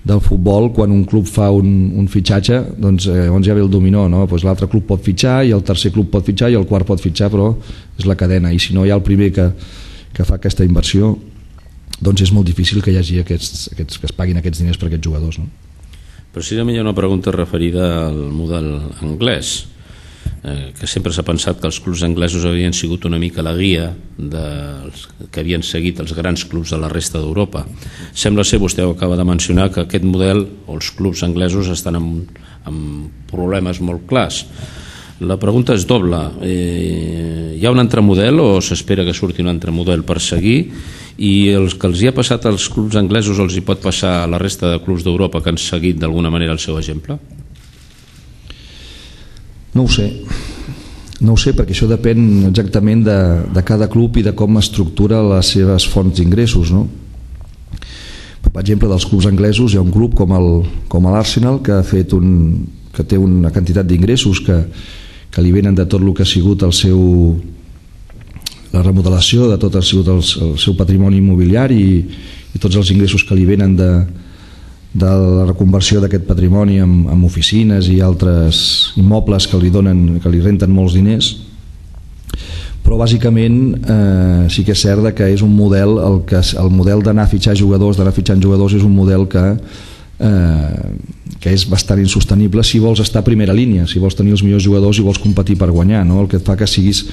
del futbol. Quan un club fa un, un fitxatge, doncs eh, llavors ja ve el dominó, no? Pues l'altre club pot fitxar, i el tercer club pot fitxar, i el quart pot fitxar, però és la cadena, i si no hi ha el primer que, que fa aquesta inversió, doncs és molt difícil que hi hagi aquests, aquests, que es paguin aquests diners per aquests jugadors, no? Precisament hi ha una pregunta referida al model anglès, eh, que sempre s'ha pensat que els clubs anglesos havien sigut una mica la guia dels, que havien seguit els grans clubs de la resta d'Europa. Sembla ser, vostè ho acaba de mencionar, que aquest model o els clubs anglesos estan amb, amb problemes molt clars. La pregunta és doble. Eh, hi ha un altre model o s'espera que surti un altre model per seguir, i els que els hi ha passat als clubs anglesos els hi pot passar a la resta de clubs d'Europa que han seguit d'alguna manera el seu exemple? No ho sé. No ho sé, perquè això depèn exactament de, de cada club i de com estructura les seves fonts d'ingressos, no? Per exemple, dels clubs anglesos hi ha un club com el, com l'Arsenal, que ha fet un, que té una quantitat d'ingressos que, que li venen de tot el que ha sigut el seu, la remodelació de tot el, el, el seu patrimoni immobiliari, i, i tots els ingressos que li venen de, de la reconversió d'aquest patrimoni amb, amb oficines i altres immobles que li donen, que li renten molts diners. Però bàsicament eh, sí que és cert que és un model, el, que, el model d'anar a fitxar jugadors, d'anar fitxant jugadors és un model que Eh, que és bastant insostenible si vols estar a primera línia, si vols tenir els millors jugadors i vols competir per guanyar, no? El que et fa que siguis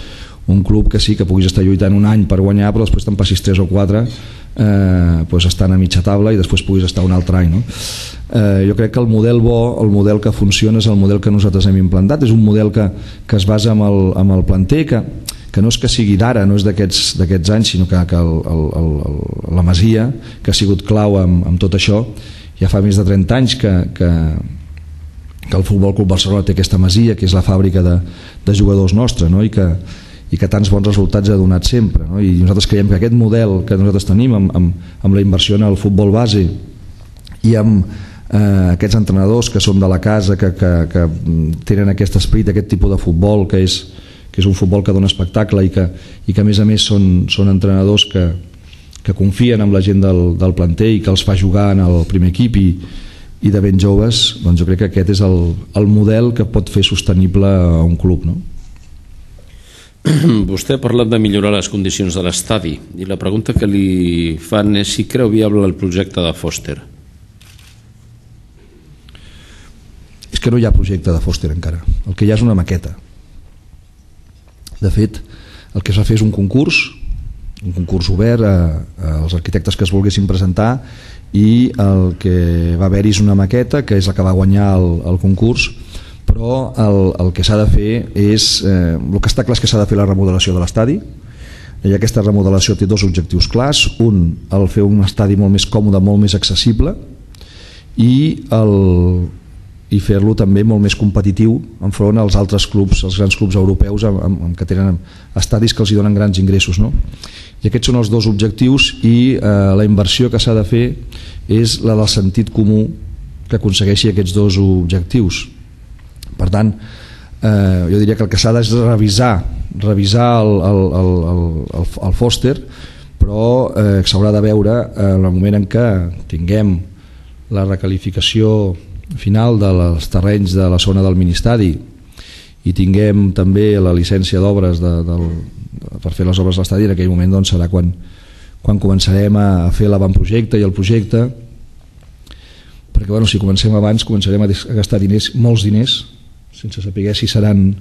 un club que sí, que puguis estar lluitant un any per guanyar, però després te'n passis tres o quatre eh, pues estan a mitja taula i després puguis estar un altre any, no? Eh, jo crec que el model bo, el model que funciona és el model que nosaltres hem implantat, és un model que, que es basa en el, en el planter, que, que no és que sigui d'ara, no és d'aquests d'aquests anys, sinó que, que el, el, el, la Masia, que ha sigut clau amb, amb tot això. Ja fa més de trenta anys que, que, que el Futbol Club Barcelona té aquesta Masia, que és la fàbrica de, de jugadors nostra, no? I, que, i que tants bons resultats ha donat sempre, no? I nosaltres creiem que aquest model que nosaltres tenim amb, amb, amb la inversió en el futbol base i amb eh, aquests entrenadors que som de la casa, que, que, que tenen aquest esperit, aquest tipus de futbol que és, que és un futbol que dona espectacle i que, i que a més a més són, són entrenadors que que confien en la gent del, del planter i que els fa jugar en el primer equip i, i de ben joves, doncs jo crec que aquest és el, el model que pot fer sostenible a un club, no? Vostè ha parlat de millorar les condicions de l'estadi i la pregunta que li fan és si creu viable el projecte de Foster. És que no hi ha projecte de Foster encara, el que hi ha és una maqueta. De fet, el que es va fer és un concurs, un concurs obert a, als arquitectes que es volguessin presentar, i el que va haver-hi és una maqueta que és la que va guanyar el, el concurs, però el, el que s'ha de fer és eh, el que està clar és que s'ha de fer la remodelació de l'estadi, i aquesta remodelació té dos objectius clars: un, el fer un estadi molt més còmode, molt més accessible, i el i fer-lo també molt més competitiu enfront als altres clubs, als grans clubs europeus amb, amb, amb que tenen estadis que els hi donen grans ingressos, no? I aquests són els dos objectius, i eh, la inversió que s'ha de fer és la del sentit comú que aconsegueixi aquests dos objectius. Per tant, eh, jo diria que el que s'ha de és revisar revisar el, el, el, el, el Foster, però eh, s'haurà de veure en el moment en què tinguem la recalificació final dels terrenys de la zona del ministadi i tinguem també la llicència d'obres de, del, per fer les obres de l'estadi. En aquell moment doncs, serà quan, quan començarem a fer l'avantprojecte i el projecte, perquè bueno, si comencem abans començarem a gastar diners, molts diners, sense saber si seran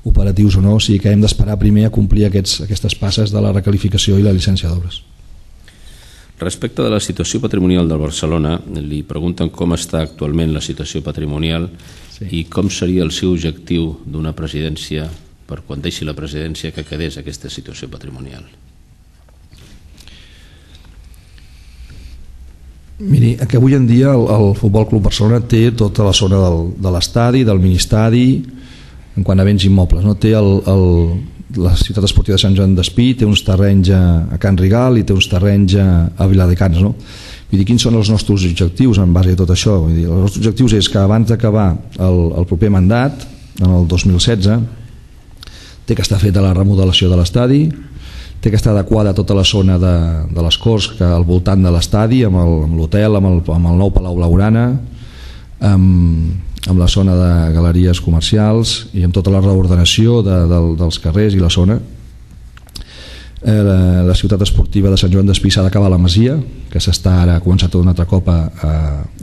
operatius o no, o sigui que hem d'esperar primer a complir aquests, aquestes passes de la recalificació i la llicència d'obres. Respecte de la situació patrimonial del Barcelona, li pregunten com està actualment la situació patrimonial, sí, i com seria el seu objectiu d'una presidència, per quan deixi la presidència, que quedés aquesta situació patrimonial. Miri, que avui en dia el, el Futbol Club Barcelona té tota la zona del, de l'estadi, del ministadi, en quant a béns immobles, no? Té el, el, la ciutat esportiva de Sant Joan d'Espí, té uns terrenys a, a Can Rigal i té uns terrenys a, a Viladecans, no? Vull dir, quins són els nostres objectius en base a tot això? Vull dir, els nostres objectius és que abans d'acabar el, el proper mandat, en el dos mil setze, té que estar feta la remodelació de l'estadi, té que estar adequada tota la zona de, de les Corts que al voltant de l'estadi, amb l'hotel, amb, el, amb el nou Palau Blaugrana, amb, amb la zona de galeries comercials i amb tota la reordenació de, de, dels carrers i la zona. Eh, la, la ciutat esportiva de Sant Joan d'Espí s'ha d'acabar la masia, que s'està ara ha començat un altre cop a, a,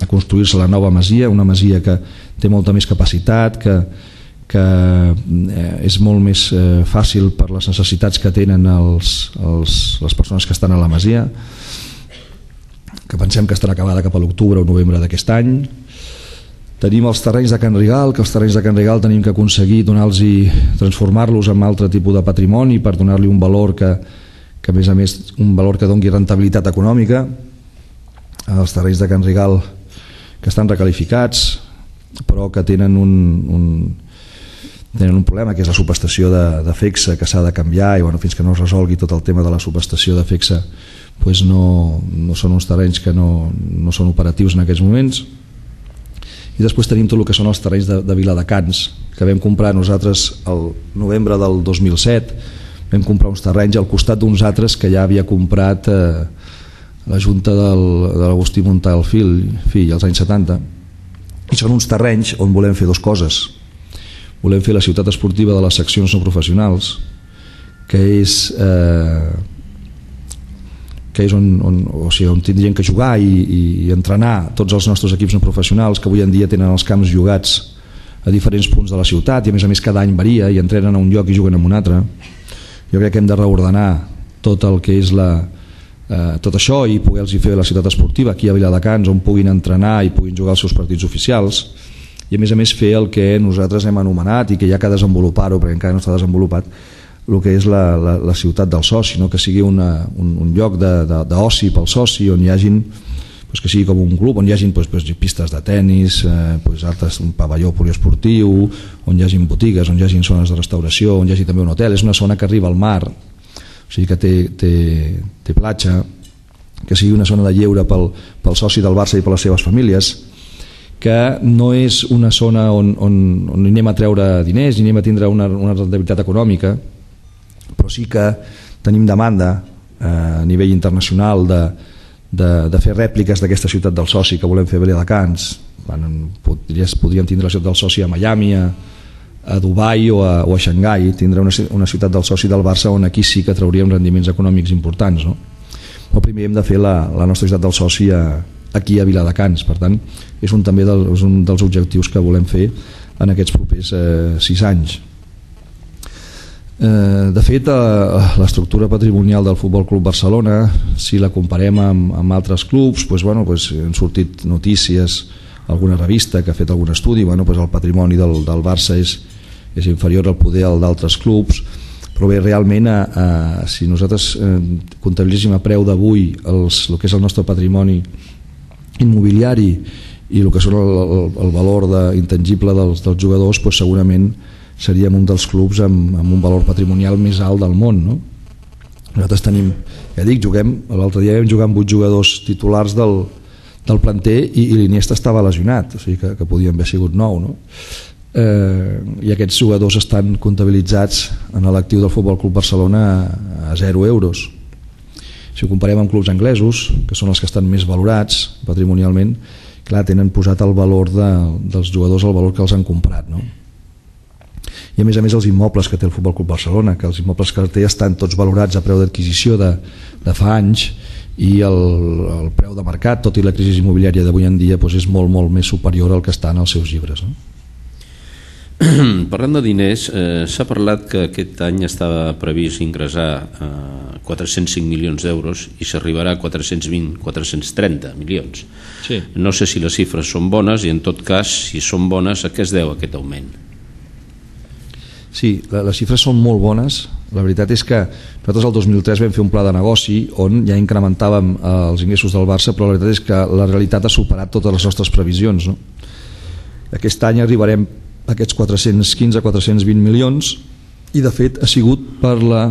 a construir-se la nova masia, una masia que té molta més capacitat, que, que eh, és molt més eh, fàcil per les necessitats que tenen els, els, les persones que estan a la masia, que pensem que estarà acabada cap a l'octubre o novembre d'aquest any. Tenim els terrenys de Can Rigal, que els terrenys de Can Rigal tenim que aconseguir donar-los i transformar-los en altre tipus de patrimoni per donar-li un valor que, que a més a més un valor que doni rentabilitat econòmica. Els terrenys de Can Rigal que estan recalificats però que tenen un, un, tenen un problema, que és la subestació de, de Fexa, que s'ha de canviar i bueno, fins que no es resolgui tot el tema de la subestació de Fexa pues no, no són uns terrenys que no, no són operatius en aquests moments. I després tenim tot el que són els terrenys de, de Viladecans, que vam comprar nosaltres el novembre del dos mil set, vam comprar uns terrenys al costat d'uns altres que ja havia comprat eh, la Junta del, de l'Agustí Montal fill, fill als anys setanta, i són uns terrenys on volem fer dues coses. Volem fer la ciutat esportiva de les seccions no professionals, que és... Eh, que és on, on, o sigui, on tindrien que jugar i, i, i entrenar tots els nostres equips no professionals que avui en dia tenen els camps jugats a diferents punts de la ciutat i a més a més cada any varia i entrenen a un lloc i juguen en un altre. Jo crec que hem de reordenar tot el que és la, eh, tot això i poder-los fer la ciutat esportiva aquí a Viladecans on puguin entrenar i puguin jugar els seus partits oficials i a més a més fer el que nosaltres hem anomenat i que hi ha que desenvolupar-ho perquè encara no està desenvolupat, el que és la, la, la ciutat del soci, no? Que sigui una, un, un lloc d'oci pel soci on hi hagin, pues que sigui com un club on hi hagin pues, pues, pistes de tennis, eh, pues, altres, un pavelló poliesportiu, on hi hagin botigues, on hi hagin zones de restauració, on hi hagi també un hotel. És una zona que arriba al mar, o sigui que té, té, té platja, que sigui una zona de lleure pel, pel soci del Barça i per les seves famílies, que no és una zona on, on, on anem a treure diners i anem a tindre una, una rentabilitat econòmica, però sí que tenim demanda eh, a nivell internacional de, de, de fer rèpliques d'aquesta ciutat del soci que volem fer a Viladecans. Podries, podríem tindre la ciutat del soci a Miami, a, a Dubai o a, o a Xangai, tindre una, una ciutat del soci del Barça on aquí sí que trauríem rendiments econòmics importants, no? Però primer hem de fer la, la nostra ciutat del soci a, aquí a Viladecans, per tant és un, també del, és un dels objectius que volem fer en aquests propers eh, sis anys. Eh, de fet, eh, l'estructura patrimonial del Futbol Club Barcelona, si la comparem amb, amb altres clubs, pues, bueno, pues, han sortit notícies, alguna revista que ha fet algun estudi, bueno, pues, el patrimoni del, del Barça és, és inferior al poder al d'altres clubs, però bé, realment a, a, si nosaltres eh, comptabilitzem a preu d'avui el que és el nostre patrimoni immobiliari i el que són el, el, el valor de, intangible dels, dels jugadors, pues, segurament seríem un dels clubs amb, amb un valor patrimonial més alt del món, no? Nosaltres tenim, ja dic, juguem, l'altre dia vam jugar amb vuit jugadors titulars del, del planter i, i l'Iniesta estava lesionat, o sigui que, que podien haver sigut nou, no? Eh, i aquests jugadors estan comptabilitzats en l'actiu del Futbol Club Barcelona a, a zero euros. Si ho comparem amb clubs anglesos, que són els que estan més valorats patrimonialment, clar, tenen posat el valor de, dels jugadors al valor que els han comprat, no? I a més a més els immobles que té el Futbol Club Barcelona, que els immobles que té estan tots valorats a preu d'adquisició de, de fa anys i el, el preu de mercat, tot i la crisi immobiliària d'avui en dia, doncs és molt, molt més superior al que està en els seus llibres, no? Parlant de diners, eh, s'ha parlat que aquest any estava previst ingressar eh, quatre-cents cinc milions d'euros i s'arribarà a quatre-cents vint a quatre-cents trenta milions. Sí. No sé si les xifres són bones i en tot cas, si són bones, a què es deu aquest augment? Sí, les xifres són molt bones. La veritat és que nosaltres el dos mil tres vam fer un pla de negoci on ja incrementàvem els ingressos del Barça, però la veritat és que la realitat ha superat totes les nostres previsions, no? Aquest any arribarem a aquests quatre-cents quinze a quatre-cents vint milions i de fet ha sigut per la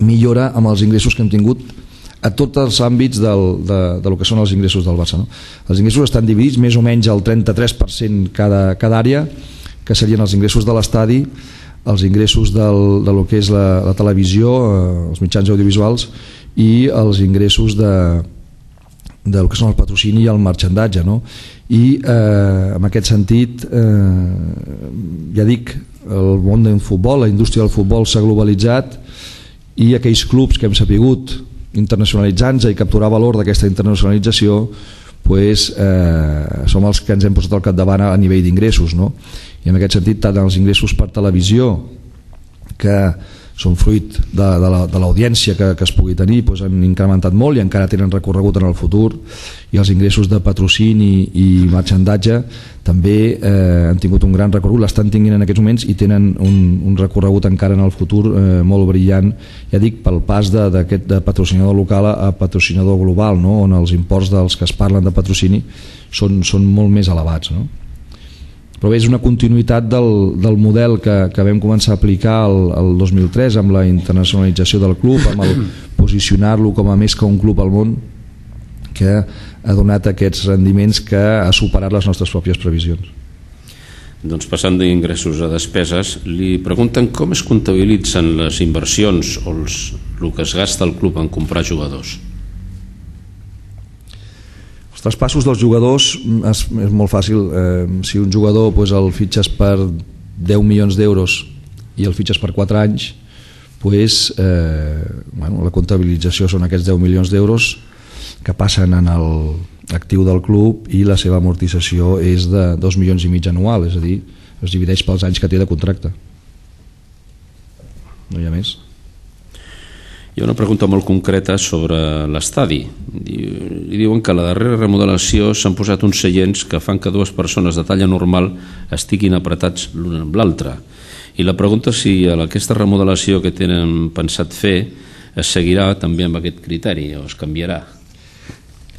millora amb els ingressos que hem tingut a tots els àmbits del, de, de lo que són els ingressos del Barça, no? Els ingressos estan dividits més o menys al trenta-tres per cent cada, cada àrea, que serien els ingressos de l'estadi, els ingressos del, de lo que és la, la televisió, eh, els mitjans audiovisuals, i els ingressos de, del que són el patrocini i el marxandatge, no? I eh, en aquest sentit, eh, ja dic, el món del futbol, la indústria del futbol s'ha globalitzat, i aquells clubs que hem sapigut internacionalitzar-nos i capturar valor d'aquesta internacionalització, pues, eh, som els que ens hem posat al capdavant a nivell d'ingressos, no? I en aquest sentit, tant els ingressos per televisió, que són fruit de, de, la, de l'audiència que, que es pugui tenir, doncs han incrementat molt i encara tenen recorregut en el futur, i els ingressos de patrocini i marxandatge també eh, han tingut un gran recorregut, l'estan tinguent en aquests moments i tenen un, un recorregut encara en el futur eh, molt brillant, ja dic, pel pas de, d'aquest de patrocinador local a patrocinador global, no? On els imports dels que es parlen de patrocini són, són molt més elevats, no? Però bé, és una continuïtat del, del model que, que vam començar a aplicar el, el dos mil tres amb la internacionalització del club, amb el posicionar-lo com a més que un club al món, que ha donat aquests rendiments que ha superat les nostres pròpies previsions. Doncs passant d'ingressos a despeses, li pregunten com es comptabilitzen les inversions o els, el que es gasta el club en comprar jugadors. Els traspassos dels jugadors és, és molt fàcil. Eh, si un jugador pues, el fitxes per deu milions d'euros i el fitxes per quatre anys, pues, eh, bueno, la comptabilització són aquests deu milions d'euros que passen en l'actiu del club, i la seva amortització és de dos milions i mig anual, és a dir, es divideix pels anys que té de contracte. No hi ha més. Hi ha una pregunta molt concreta sobre l'estadi. I diuen que a la darrera remodelació s'han posat uns seients que fan que dues persones de talla normal estiguin apretats l'un amb l'altre. I la pregunta és si a aquesta remodelació que tenen pensat fer es seguirà també amb aquest criteri o es canviarà.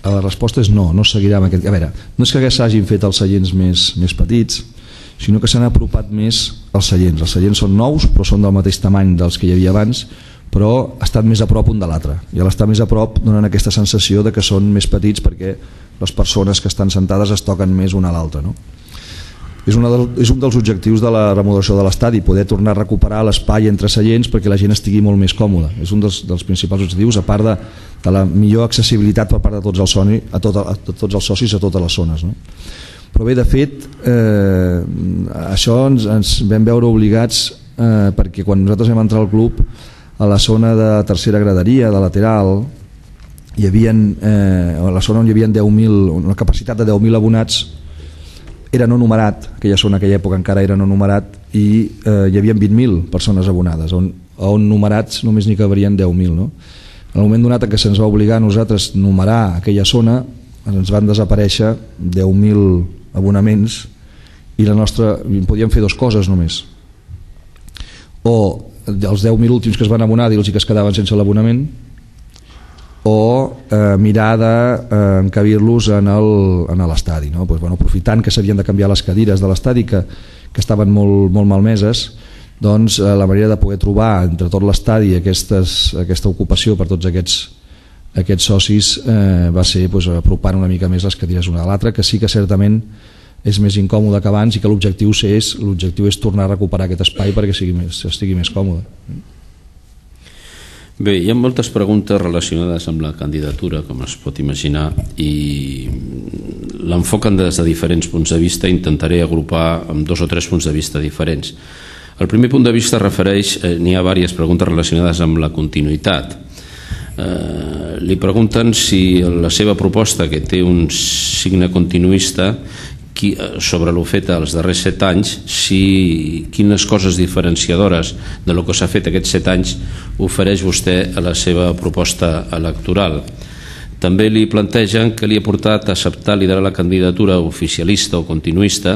La resposta és no, no seguirà amb aquest... A veure, no és que s'hagin fet els seients més, més petits, sinó que s'han apropat més els seients. Els seients són nous, però són del mateix tamany dels que hi havia abans, però estan més a prop un de l'altre, i a l'estar més a prop donen aquesta sensació de que són més petits perquè les persones que estan sentades es toquen més una a l'altra, no? És, una del, és un dels objectius de la remodelació de l'estadi, poder tornar a recuperar l'espai entre seients perquè la gent estigui molt més còmoda. És un dels, dels principals objectius, a part de, de la millor accessibilitat per part de tots els, soni, a tot, a tots els socis a totes les zones, no? Però bé, de fet, eh, això ens, ens vam veure obligats eh, perquè quan nosaltres vam entrar al club, a la zona de tercera graderia, de lateral, hi havia, eh, a la zona on hi havia deu mil, una capacitat de deu mil abonats, era no numerat, aquella zona, aquella època encara era no numerat, i eh, hi havia vint mil persones abonades, on, on numerats només n'hi cabrien deu mil, no? En el moment donat que se'ns va obligar a nosaltres numerar aquella zona, ens van desaparèixer deu mil abonaments, i la nostra, podíem fer dues coses només, o els deu mil últims que es van abonar dir-los que es quedaven sense l'abonament, o eh, mirar d'encabir-los en l'estadi, no? Pues, bueno, aprofitant que s'havien de canviar les cadires de l'estadi que, que estaven molt, molt malmeses, doncs eh, la manera de poder trobar entre tot l'estadi aquesta ocupació per tots aquests, aquests socis eh, va ser pues, apropant una mica més les cadires una a l'altra, que sí que certament és més incòmode que abans, i que l'objectiu és, l'objectiu és tornar a recuperar aquest espai perquè sigui més, estigui més còmode. Bé, hi ha moltes preguntes relacionades amb la candidatura, com es pot imaginar, i l'enfoquen des de diferents punts de vista. Intentaré agrupar amb dos o tres punts de vista diferents. El primer punt de vista refereix, eh, n'hi ha diverses preguntes relacionades amb la continuïtat. Eh, li pregunten si la seva proposta, que té un signe continuista, sobre l'ho fet els darrers set anys, si quines coses diferenciadores de lo que s'ha fet aquests set anys ofereix vostè a la seva proposta electoral. També li plantegen que li ha portat a acceptar liderar la candidatura oficialista o continuista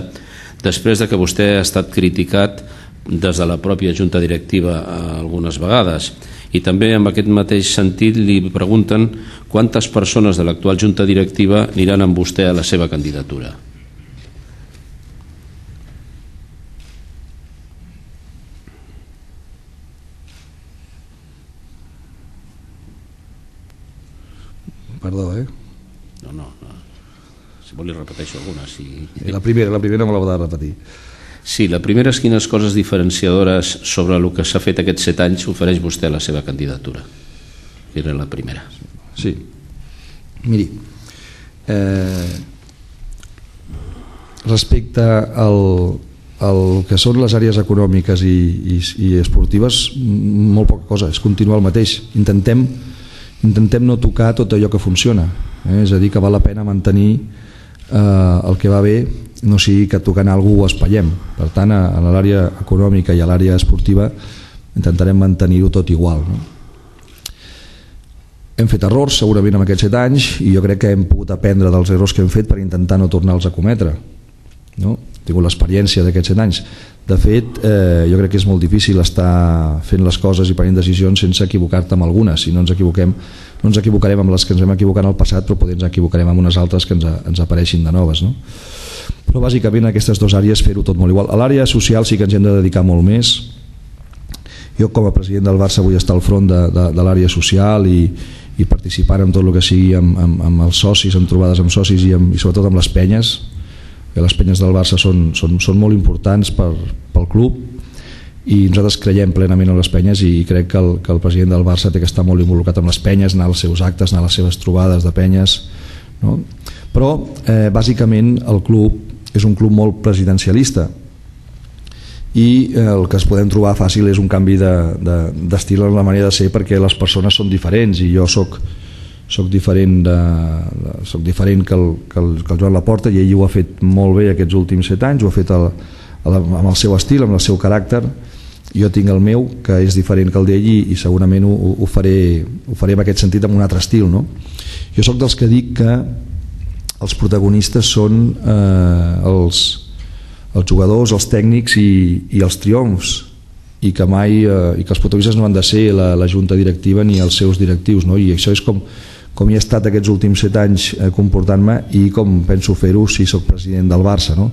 després de que vostè ha estat criticat des de la pròpia junta directiva algunes vegades. I també en aquest mateix sentit li pregunten quantes persones de l'actual junta directiva aniran amb vostè a la seva candidatura. Perdó, eh? No, no, no. Si vol li repeteixo alguna. Si... La primera, la primera me la va de repetir. Sí, la primera és quines coses diferenciadores sobre el que s'ha fet aquests set anys ofereix vostè a la seva candidatura. Era la primera. Sí. Miri, eh, respecte al, al que són les àrees econòmiques i, i, i esportives, molt poca cosa, és continuar el mateix. Intentem, intentem no tocar tot allò que funciona, eh? És a dir, que val la pena mantenir eh, el que va bé, no sigui que tocant alguna cosa ho espallem. Per tant, a, a l'àrea econòmica i a l'àrea esportiva intentarem mantenir-ho tot igual, no? Hem fet errors segurament en aquests set anys i jo crec que hem pogut aprendre dels errors que hem fet per intentar no tornar-los a cometre, no? He tingut l'experiència d'aquests set anys. De fet, eh, jo crec que és molt difícil estar fent les coses i prenent decisions sense equivocar-te amb algunes. Si no ens equivoquem, no ens equivocarem amb les que ens vam equivocar en el passat, però potser ens equivocarem amb unes altres que ens, ens apareixin de noves, no? Però bàsicament en aquestes dues àrees fer-ho tot molt igual. A l'àrea social sí que ens hem de dedicar molt més. Jo com a president del Barça vull estar al front de, de, de l'àrea social i, i participar en tot el que sigui amb, amb, amb els socis, amb trobades amb socis i, amb, i sobretot amb les penyes, que les penyes del Barça són, són, són molt importants per, pel club i nosaltres creiem plenament en les penyes i crec que el, que el president del Barça té que estar molt involucrat amb les penyes, anar als seus actes, anar a les seves trobades de penyes, no? Però eh, bàsicament el club és un club molt presidencialista i eh, el que es podem trobar fàcil és un canvi d'estil de, de, en la manera de ser, perquè les persones són diferents i jo soc, soc diferent, de, de, soc diferent que, el, que, el, que el Joan Laporta, i ell ho ha fet molt bé aquests últims set anys, ho ha fet el, el, amb el seu estil, amb el seu caràcter. Jo tinc el meu, que és diferent que el d'ell i, i segurament ho, ho, faré, ho faré en aquest sentit amb un altre estil, no? Jo soc dels que dic que els protagonistes són eh, els, els jugadors, els tècnics i, i els triomfs, i que mai eh, i que els protagonistes no han de ser la, la junta directiva ni els seus directius, no? I això és com, com hi he estat aquests últims set anys eh, comportant-me i com penso fer-ho si sóc president del Barça, no?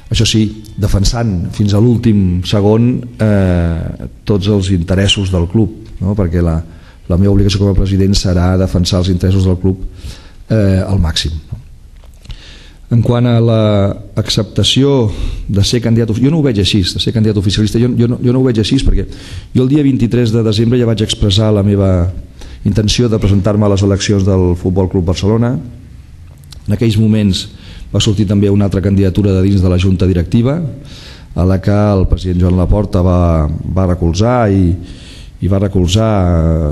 Això sí, defensant fins a l'últim segon eh, tots els interessos del club, no? Perquè la, la meva obligació com a president serà defensar els interessos del club eh, al màxim, no? En quant a l'acceptació de ser candidat, jo no ho veig així, de ser candidat oficialista, jo, jo, no, jo no ho veig així, perquè jo el dia vint-i-tres de desembre ja vaig expressar la meva intenció de presentar-me a les eleccions del Futbol Club Barcelona. En aquells moments va sortir també una altra candidatura de dins de la junta directiva, a la que el president Joan Laporta va, va recolzar i, i va recolzar,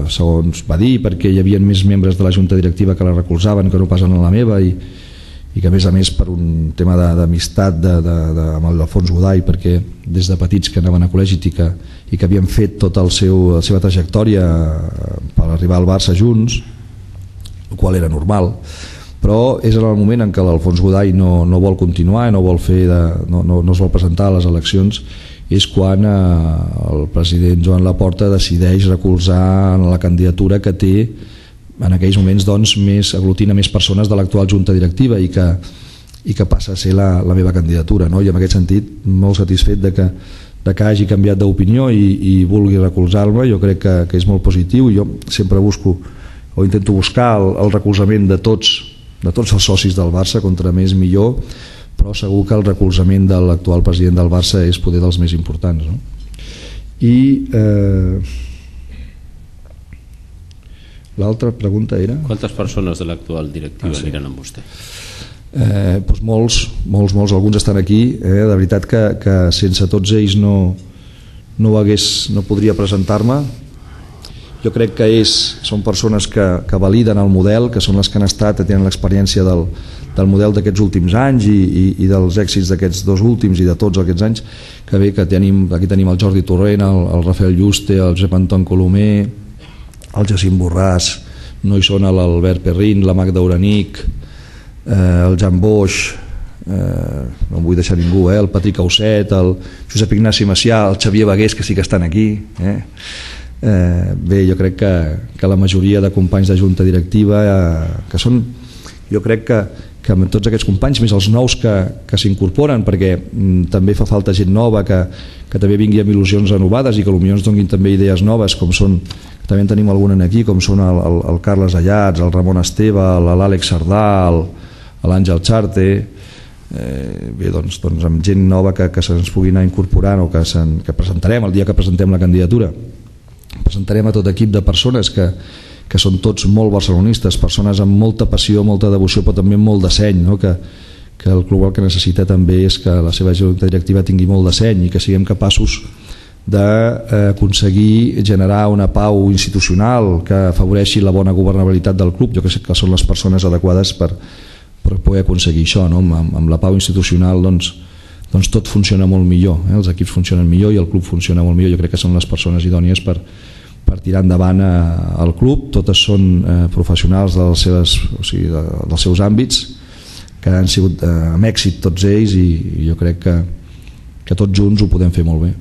segons va dir, perquè hi havia més membres de la junta directiva que la recolzaven que no pas en la meva, i i que a més a més per un tema d'amistat de, de, de, amb l'Alfons Godall, perquè des de petits que anaven a col·legi i que, i que havien fet tota el seu, la seva trajectòria per arribar al Barça junts, el qual era normal, però és en el moment en què l'Alfons Godall no, no vol continuar, no, vol fer de, no, no, no es vol presentar a les eleccions, és quan eh, el president Joan Laporta decideix recolzar la candidatura que té en aquells moments, doncs, més, aglutina més persones de l'actual junta directiva i que, i que passa a ser la, la meva candidatura, no? I en aquest sentit molt satisfet de que, de que hagi canviat d'opinió i, i vulgui recolzar-me. Jo crec que, que és molt positiu i jo sempre busco o intento buscar el, el recolzament de tots, de tots els socis del Barça, contra més millor, però segur que el recolzament de l'actual president del Barça és poder dels més importants, no? I eh, l'altra pregunta era... Quantes persones de l'actual directiva ah, sí. aniran amb vostè? Eh, doncs molts, molts, molts, alguns estan aquí. Eh? De veritat que, que sense tots ells no, no, hagués, no podria presentar-me. Jo crec que és, són persones que, que validen el model, que són les que han estat, tenen l'experiència del, del model d'aquests últims anys i, i, i dels èxits d'aquests dos últims i de tots aquests anys, que bé que tenim, aquí tenim el Jordi Torrent, el, el Rafael Juste, el Josep Anton Colomer, el Jacint Borràs, no hi són l'Albert Perrin, la Magda Uranic, eh, el Jan Boix, eh, no em vull deixar ningú, eh, el Patrick Auset, el Josep Ignasi Macià, el Xavier Bagués, que sí que estan aquí. Eh. Eh, bé, jo crec que, que la majoria de companys de junta directiva, eh, que són, jo crec que, que amb tots aquests companys, més els nous que, que s'incorporen, perquè mm, també fa falta gent nova que, que també vingui amb il·lusions renovades i que potser ens donin també idees noves, com són, també en tenim algun aquí, com són el, el, el Carles Allats, el Ramon Esteve, l'Àlex Sardà, l'Àngel Charte, eh, bé, doncs, doncs amb gent nova que, que se'ns pugui anar incorporant o que, que presentarem el dia que presentem la candidatura. Presentarem a tot equip de persones que, que són tots molt barcelonistes, persones amb molta passió, molta devoció, però també molt de seny, no? que, que el club el que necessita també és que la seva junta directiva tingui molt de seny i que siguem capaços d'aconseguir generar una pau institucional que afavoreixi la bona governabilitat del club. Jo crec que són les persones adequades per, per poder aconseguir això, no? amb, amb la pau institucional doncs, doncs tot funciona molt millor, eh? Els equips funcionen millor i el club funciona molt millor. Jo crec que són les persones idònies per, per tirar endavant eh, el club. Totes són eh, professionals dels seus, o sigui, de, dels seus àmbits, que han sigut eh, amb èxit tots ells, i, i jo crec que, que tots junts ho podem fer molt bé.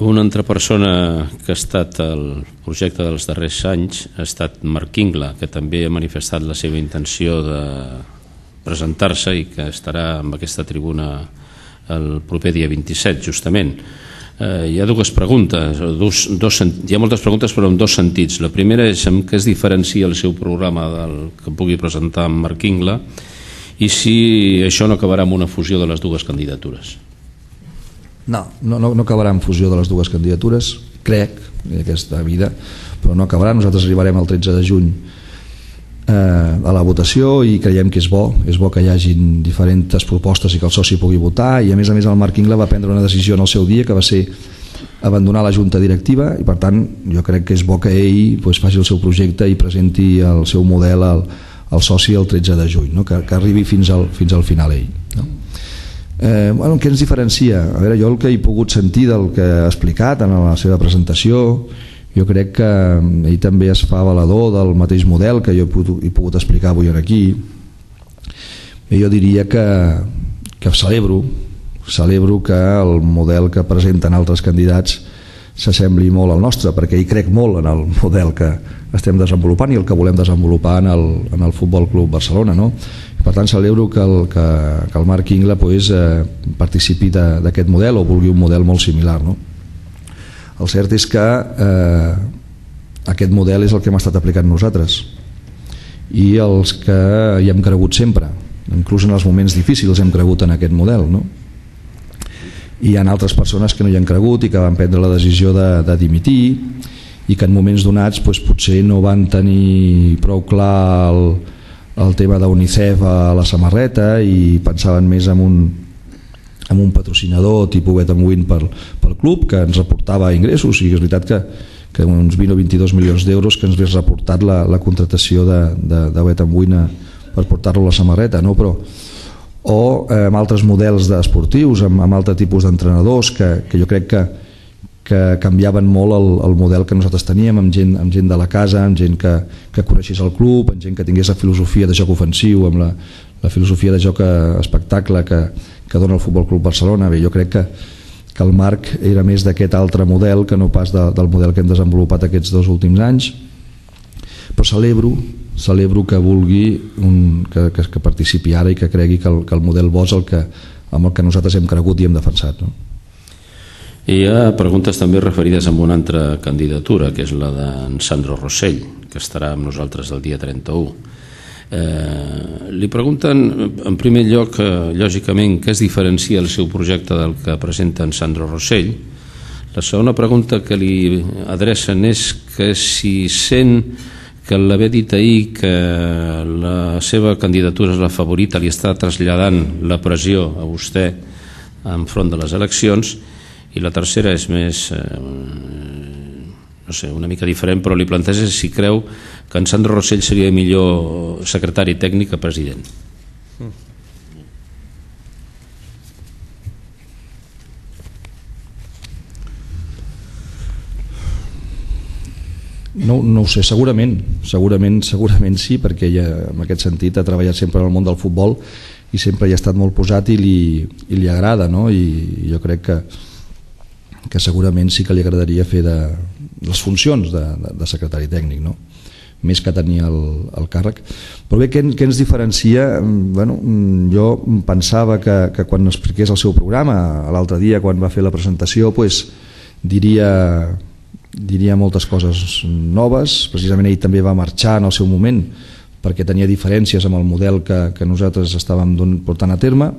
Una altra persona que ha estat al projecte dels darrers anys ha estat Marc Ingla, que també ha manifestat la seva intenció de presentar-se i que estarà en aquesta tribuna el proper dia vint-i-set, justament. Eh, hi ha dues preguntes, dos, dos, hi ha moltes preguntes però en dos sentits. La primera és en què es diferencia el seu programa del que pugui presentar amb Marc Ingla i si això no acabarà amb una fusió de les dues candidatures. No, no, no acabarà en fusió de les dues candidatures, crec, en aquesta vida, però no acabarà. Nosaltres arribarem el tretze de juny eh, a la votació i creiem que és bo, és bo que hi hagin diferents propostes i que el soci pugui votar, i a més a més el Marc Ingla va prendre una decisió en el seu dia que va ser abandonar la junta directiva, i per tant jo crec que és bo que ell pues, faci el seu projecte i presenti el seu model al, al soci el tretze de juny, no? que, que arribi fins al, fins al final ell, no? Eh, bueno, què ens diferencia? A veure, jo el que he pogut sentir del que ha explicat en la seva presentació, jo crec que ell també es fa valedor del mateix model que jo he pogut, he pogut explicar avui aquí. I jo diria que, que celebro celebro que el model que presenten altres candidats s'assembli molt al nostre, perquè hi crec molt en el model que estem desenvolupant i el que volem desenvolupar en el, en el Futbol Club Barcelona, no? Per tant celebro que el, que, que el Marc Ingla pues, eh, participi d'aquest model o vulgui un model molt similar, no? El cert és que eh, aquest model és el que hem estat aplicant nosaltres i els que hi hem cregut sempre, inclús en els moments difícils hem cregut en aquest model, no? I hi ha altres persones que no hi han cregut i que van prendre la decisió de, de dimitir i que en moments donats pues, potser no van tenir prou clar el, el tema d'UNICEF a la samarreta i pensaven més en un, en un patrocinador tipus Bet and Win pel, pel club que ens reportava ingressos, i és veritat que, que uns vint o vint-i-dos milions d'euros que ens hagués reportat la, la contratació de, de, de Bet and Win a, per portar-lo a la samarreta, no? Però o eh, amb altres models esportius, amb, amb altre tipus d'entrenadors que, que jo crec que, que canviaven molt el, el model que nosaltres teníem, amb gent, amb gent de la casa, amb gent que, que coneixés el club, amb gent que tingués la filosofia de joc ofensiu, amb la, la filosofia de joc espectacle que, que dona el Futbol Club Barcelona. Bé, jo crec que, que el Marc era més d'aquest altre model que no pas de, del model que hem desenvolupat aquests dos últims anys, però celebro celebro que vulgui un, que, que, que participi ara i que cregui que el, que el model bo és el que, amb el que nosaltres hem cregut i hem defensat, no? I hi ha preguntes també referides a una altra candidatura, que és la d'en Sandro Rossell, que estarà amb nosaltres el dia trenta-u. Eh, li pregunten, en primer lloc, eh, lògicament, què es diferencia el seu projecte del que presenta en Sandro Rossell. La segona pregunta que li adrecen és que si sent que l'haver dit ahir que la seva candidatura és la favorita li està traslladant la pressió a vostè enfront de les eleccions. I la tercera és més, eh, no sé, una mica diferent, però li planteja si creu que en Sandro Rossell seria millor secretari tècnic que president. No, no ho sé, segurament, segurament, segurament sí, perquè ja, en aquest sentit ha treballat sempre en el món del futbol i sempre hi ha estat molt posat i li, i li agrada, no? I jo crec que, que segurament sí que li agradaria fer de, les funcions de, de, de secretari tècnic, no? Més que tenir el, el càrrec. Però bé, què, què ens diferencia? Bueno, jo pensava que, que quan expliqués el seu programa l'altre dia, quan va fer la presentació, pues, diria... diria moltes coses noves. Precisament ell també va marxar en el seu moment perquè tenia diferències amb el model que, que nosaltres estàvem portant a terme,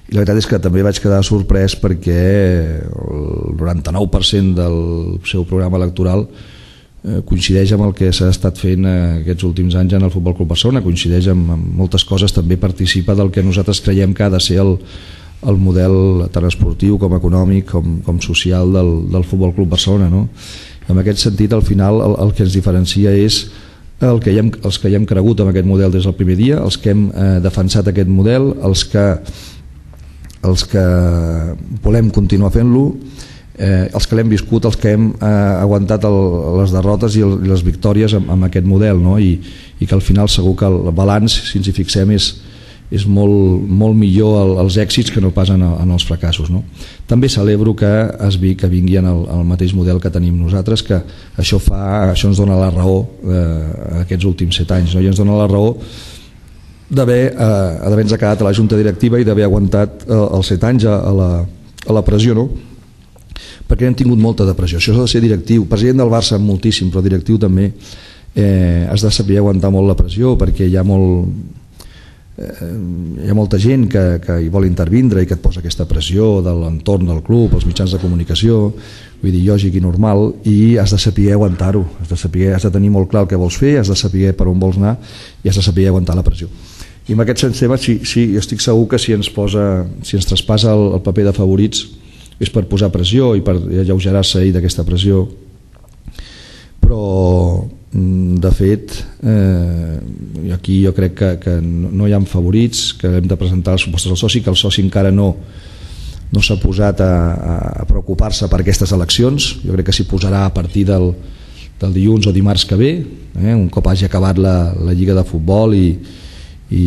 i la veritat és que també vaig quedar sorprès perquè el noranta-nou per cent del seu programa electoral coincideix amb el que s'ha estat fent aquests últims anys en el Futbol Club Barcelona, coincideix amb, amb moltes coses, també participa del que nosaltres creiem que ha de ser el, el model tant esportiu com econòmic com, com social del, del Futbol Club Barcelona, no? En aquest sentit, al final, el, el que ens diferencia és el que hem, els que hi hem cregut en aquest model des del primer dia, els que hem eh, defensat aquest model, els que, els que volem continuar fent-lo, Eh, els que l'hem viscut, els que hem eh, aguantat el, les derrotes i, el, i les victòries amb, amb aquest model, no? I, i que al final segur que el balanç, si ens hi fixem, és, és molt, molt millor el, els èxits que no pas en, en els fracassos, no? També celebro que es vi, que vingui en el, el mateix model que tenim nosaltres, que això, fa, això ens dona la raó eh, aquests últims set anys, no? I ens dona la raó d'haver eh, d'haver-nos quedat a la Junta Directiva i d'haver aguantat eh, els set anys a, a, la, a la pressió, no? Perquè hem tingut molta depressió. Això s'ha de ser directiu, president del Barça moltíssim, però directiu també, eh, has de saber aguantar molt la pressió, perquè hi ha molt eh, hi ha molta gent que, que hi vol intervindre i que et posa aquesta pressió de l'entorn del club, els mitjans de comunicació, vull dir, lògic i normal, i has de saber aguantar-ho, has de saber, has de tenir molt clar el que vols fer, has de saber per on vols anar i has de saber aguantar la pressió. I en aquest sentit, sí, sí, jo estic segur que si ens posa, si ens traspassa el, el paper de favorits és per posar pressió i per alleugerar-se d'aquesta pressió, però de fet eh, aquí jo crec que, que no hi ha favorits, que hem de presentar les propostes al soci, que el soci encara no no s'ha posat a, a preocupar-se per aquestes eleccions. Jo crec que s'hi posarà a partir del, del dilluns o dimarts que ve, eh, un cop hagi acabat la, la Lliga de Futbol, i i,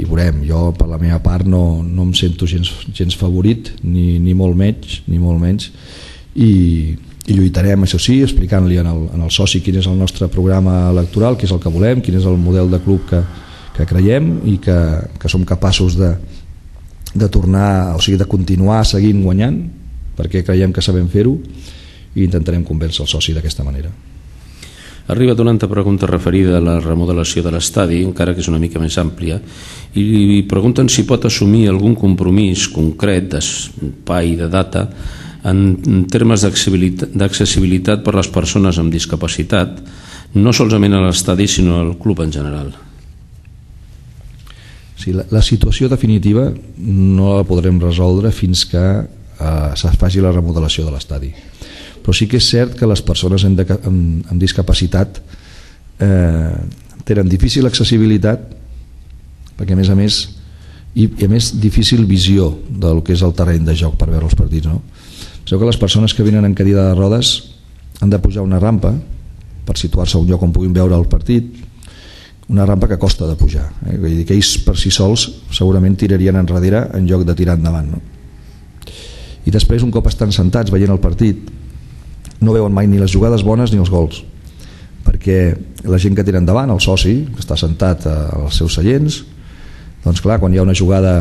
i veurem. Jo per la meva part no, no em sento gens, gens favorit, ni, ni molt menys ni molt menys i, i lluitarem, això sí, explicant-li en el, en el soci quin és el nostre programa electoral, què és el que volem, quin és el model de club que, que creiem i que, que som capaços de, de tornar, o sigui, de continuar seguint guanyant, perquè creiem que sabem fer-ho, i intentarem convèncer el soci d'aquesta manera. Arriba una altra pregunta referida a la remodelació de l'estadi, encara que és una mica més àmplia, i pregunten si pot assumir algun compromís concret d'espai, de data, en termes d'accessibilitat per a les persones amb discapacitat, no solament a l'estadi sinó al club en general. Sí, la, la situació definitiva no la podrem resoldre fins que eh, se faci la remodelació de l'estadi. Però sí que és cert que les persones amb, de, amb, amb discapacitat eh, tenen difícil accessibilitat, perquè a més a més i, i a més difícil visió del que és el terreny de joc per veure els partits, no? Sabeu que les persones que venen en cadira de rodes han de pujar una rampa per situar-se a un lloc on puguin veure el partit, una rampa que costa de pujar, eh? Vull dir que ells per si sols segurament tirarien enrere en lloc de tirar endavant, no? I després, un cop estan sentats veient el partit, no veuen mai ni les jugades bones ni els gols, perquè la gent que tira endavant, el soci que està sentat als seus seients, doncs clar, quan hi ha una jugada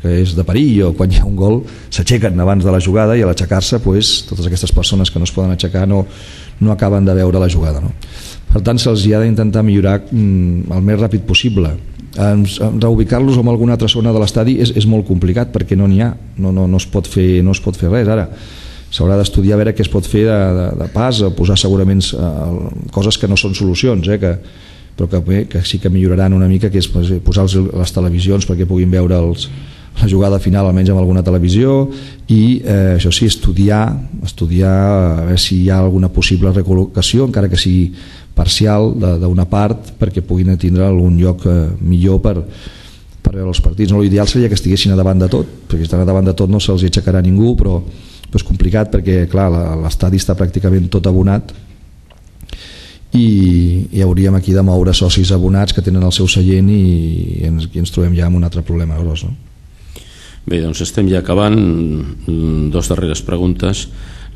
que és de perill o quan hi ha un gol, s'aixequen abans de la jugada, i a l'aixecar-se pues, totes aquestes persones que no es poden aixecar no, no acaben de veure la jugada, no? Per tant, se'ls ha d'intentar millorar mm, el més ràpid possible. Reubicar-los en alguna altra zona de l'estadi és, és molt complicat, perquè no n'hi ha, no, no, no, es pot fer, no es pot fer res ara. S'haurà d'estudiar a veure què es pot fer de, de, de pas, o posar segurament uh, coses que no són solucions, eh, que, però que, bé, que sí que milloraran una mica, que és pues, posar les televisions perquè puguin veure els, la jugada final almenys amb alguna televisió, i eh, això sí, estudiar estudiar a veure si hi ha alguna possible recol·locació, encara que sigui parcial, d'una part, perquè puguin tindre algun lloc eh, millor per, per veure els partits. No, l'ideal seria que estiguessin a davant de tot, perquè si estan a davant de tot no se'ls aixecarà ningú, però és complicat perquè clar, l'estadi està pràcticament tot abonat, i, i hauríem aquí de moure socis abonats que tenen el seu seient, i, i, ens, i ens trobem ja amb un altre problema gros, no? Bé, doncs estem ja acabant. Dos darreres preguntes.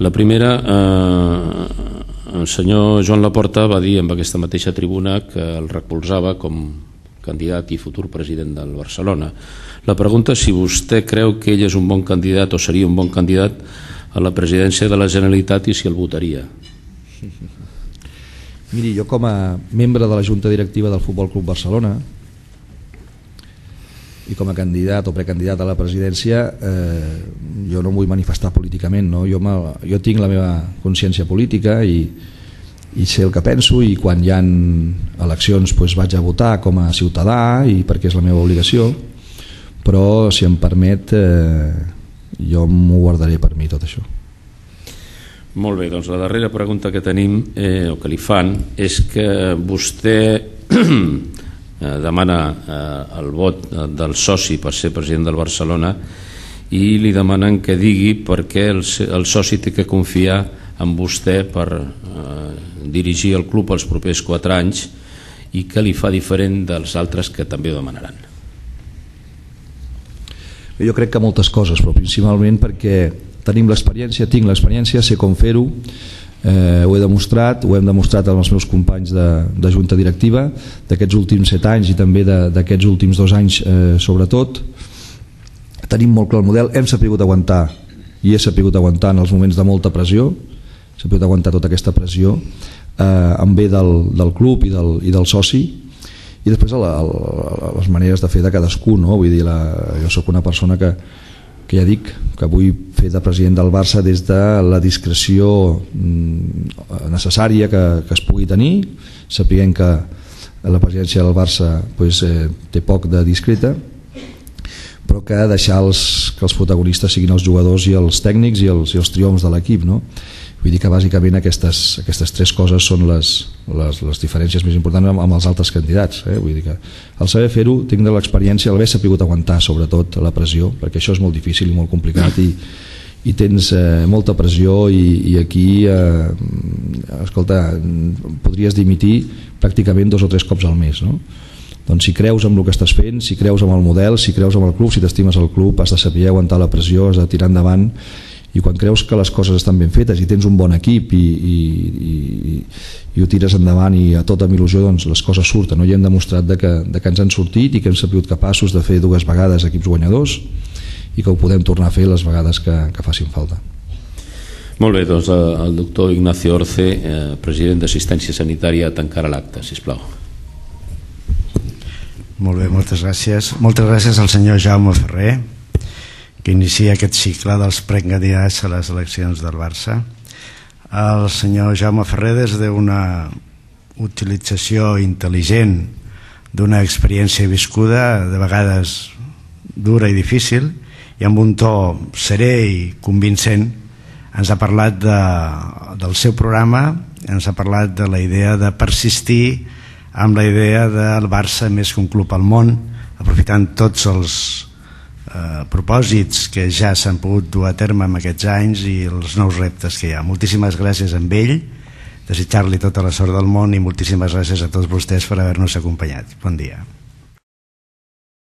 La primera, eh, el senyor Joan Laporta va dir en aquesta mateixa tribuna que el recolzava com candidat i futur president del Barcelona. La pregunta és si vostè creu que ell és un bon candidat o seria un bon candidat a la presidència de la Generalitat, i si el votaria. Miri, jo com a membre de la Junta Directiva del Futbol Club Barcelona i com a candidat o precandidat a la presidència, eh, jo no em vull manifestar políticament, no? jo, jo tinc la meva consciència política i, i sé el que penso, i quan hi ha eleccions doncs vaig a votar com a ciutadà i perquè és la meva obligació, però si em permet eh, jo m'ho guardaré per mi tot això. Molt bé, doncs la darrera pregunta que tenim eh, o que li fan és que vostè eh, demana eh, el vot del soci per ser president del Barcelona i li demanen que digui per què el, el soci té que confiar en vostè per eh, dirigir el club els propers quatre anys i què li fa diferent dels altres que també ho demanaran. Jo crec que moltes coses, però principalment perquè tenim l'experiència, tinc l'experiència, sé com fer-ho, eh, ho he demostrat, ho hem demostrat amb els meus companys de, de junta directiva d'aquests últims set anys i també d'aquests últims dos anys eh, sobretot. Tenim molt clar el model, hem sapigut aguantar i he sapigut aguantar en els moments de molta pressió, he sapigut aguantar tota aquesta pressió eh, en bé del, del club i del, i del soci, i després la, la, les maneres de fer de cadascú, no? Vull dir, la, jo sóc una persona que que ja dic que vull fer de president del Barça des de la discreció necessària que, que es pugui tenir, sapiguem que la presidència del Barça pues, eh, té poc de discreta, però que deixar els, que els protagonistes siguin els jugadors i els tècnics i els, i els triomfs de l'equip, no? Vull dir que bàsicament aquestes, aquestes tres coses són les, les, les diferències més importants amb, amb els altres candidats, eh? Vull dir que el saber fer-ho, tinc de l'experiència, l'haver sapigut aguantar sobretot la pressió, perquè això és molt difícil i molt complicat i, i tens eh, molta pressió i, i aquí eh, escolta, podries dimitir pràcticament dos o tres cops al mes, no? Doncs si creus en el que estàs fent, si creus en el model, si creus en el club, si t'estimes el club, has de saber aguantar la pressió, has de tirar endavant, i quan creus que les coses estan ben fetes i tens un bon equip i, i, i, i ho tires endavant i a tota amb il·lusió, doncs les coses surten, no? I hem demostrat de que, de que ens han sortit i que hem sabut capaços de fer dues vegades equips guanyadors i que ho podem tornar a fer les vegades que, que facin falta. Molt bé, doncs el doctor Ignacio Orce, eh, president d'Assistència Sanitària, tancarà l'acte, sisplau. Molt bé, moltes gràcies. Moltes gràcies al senyor Jaume Ferrer, que inicia aquest cicle dels precandidats a les eleccions del Barça. El senyor Jaume Ferrer, des d'una utilització intel·ligent d'una experiència viscuda, de vegades dura i difícil, i amb un to serè i convincent, ens ha parlat de, del seu programa, ens ha parlat de la idea de persistir amb la idea del Barça més que un club al món, aprofitant tots els Eh, propòsits que ja s'han pogut dur a terme en aquests anys i els nous reptes que hi ha. Moltíssimes gràcies a ell, desitjar-li tota la sort del món i moltíssimes gràcies a tots vostès per haver-nos acompanyat. Bon dia.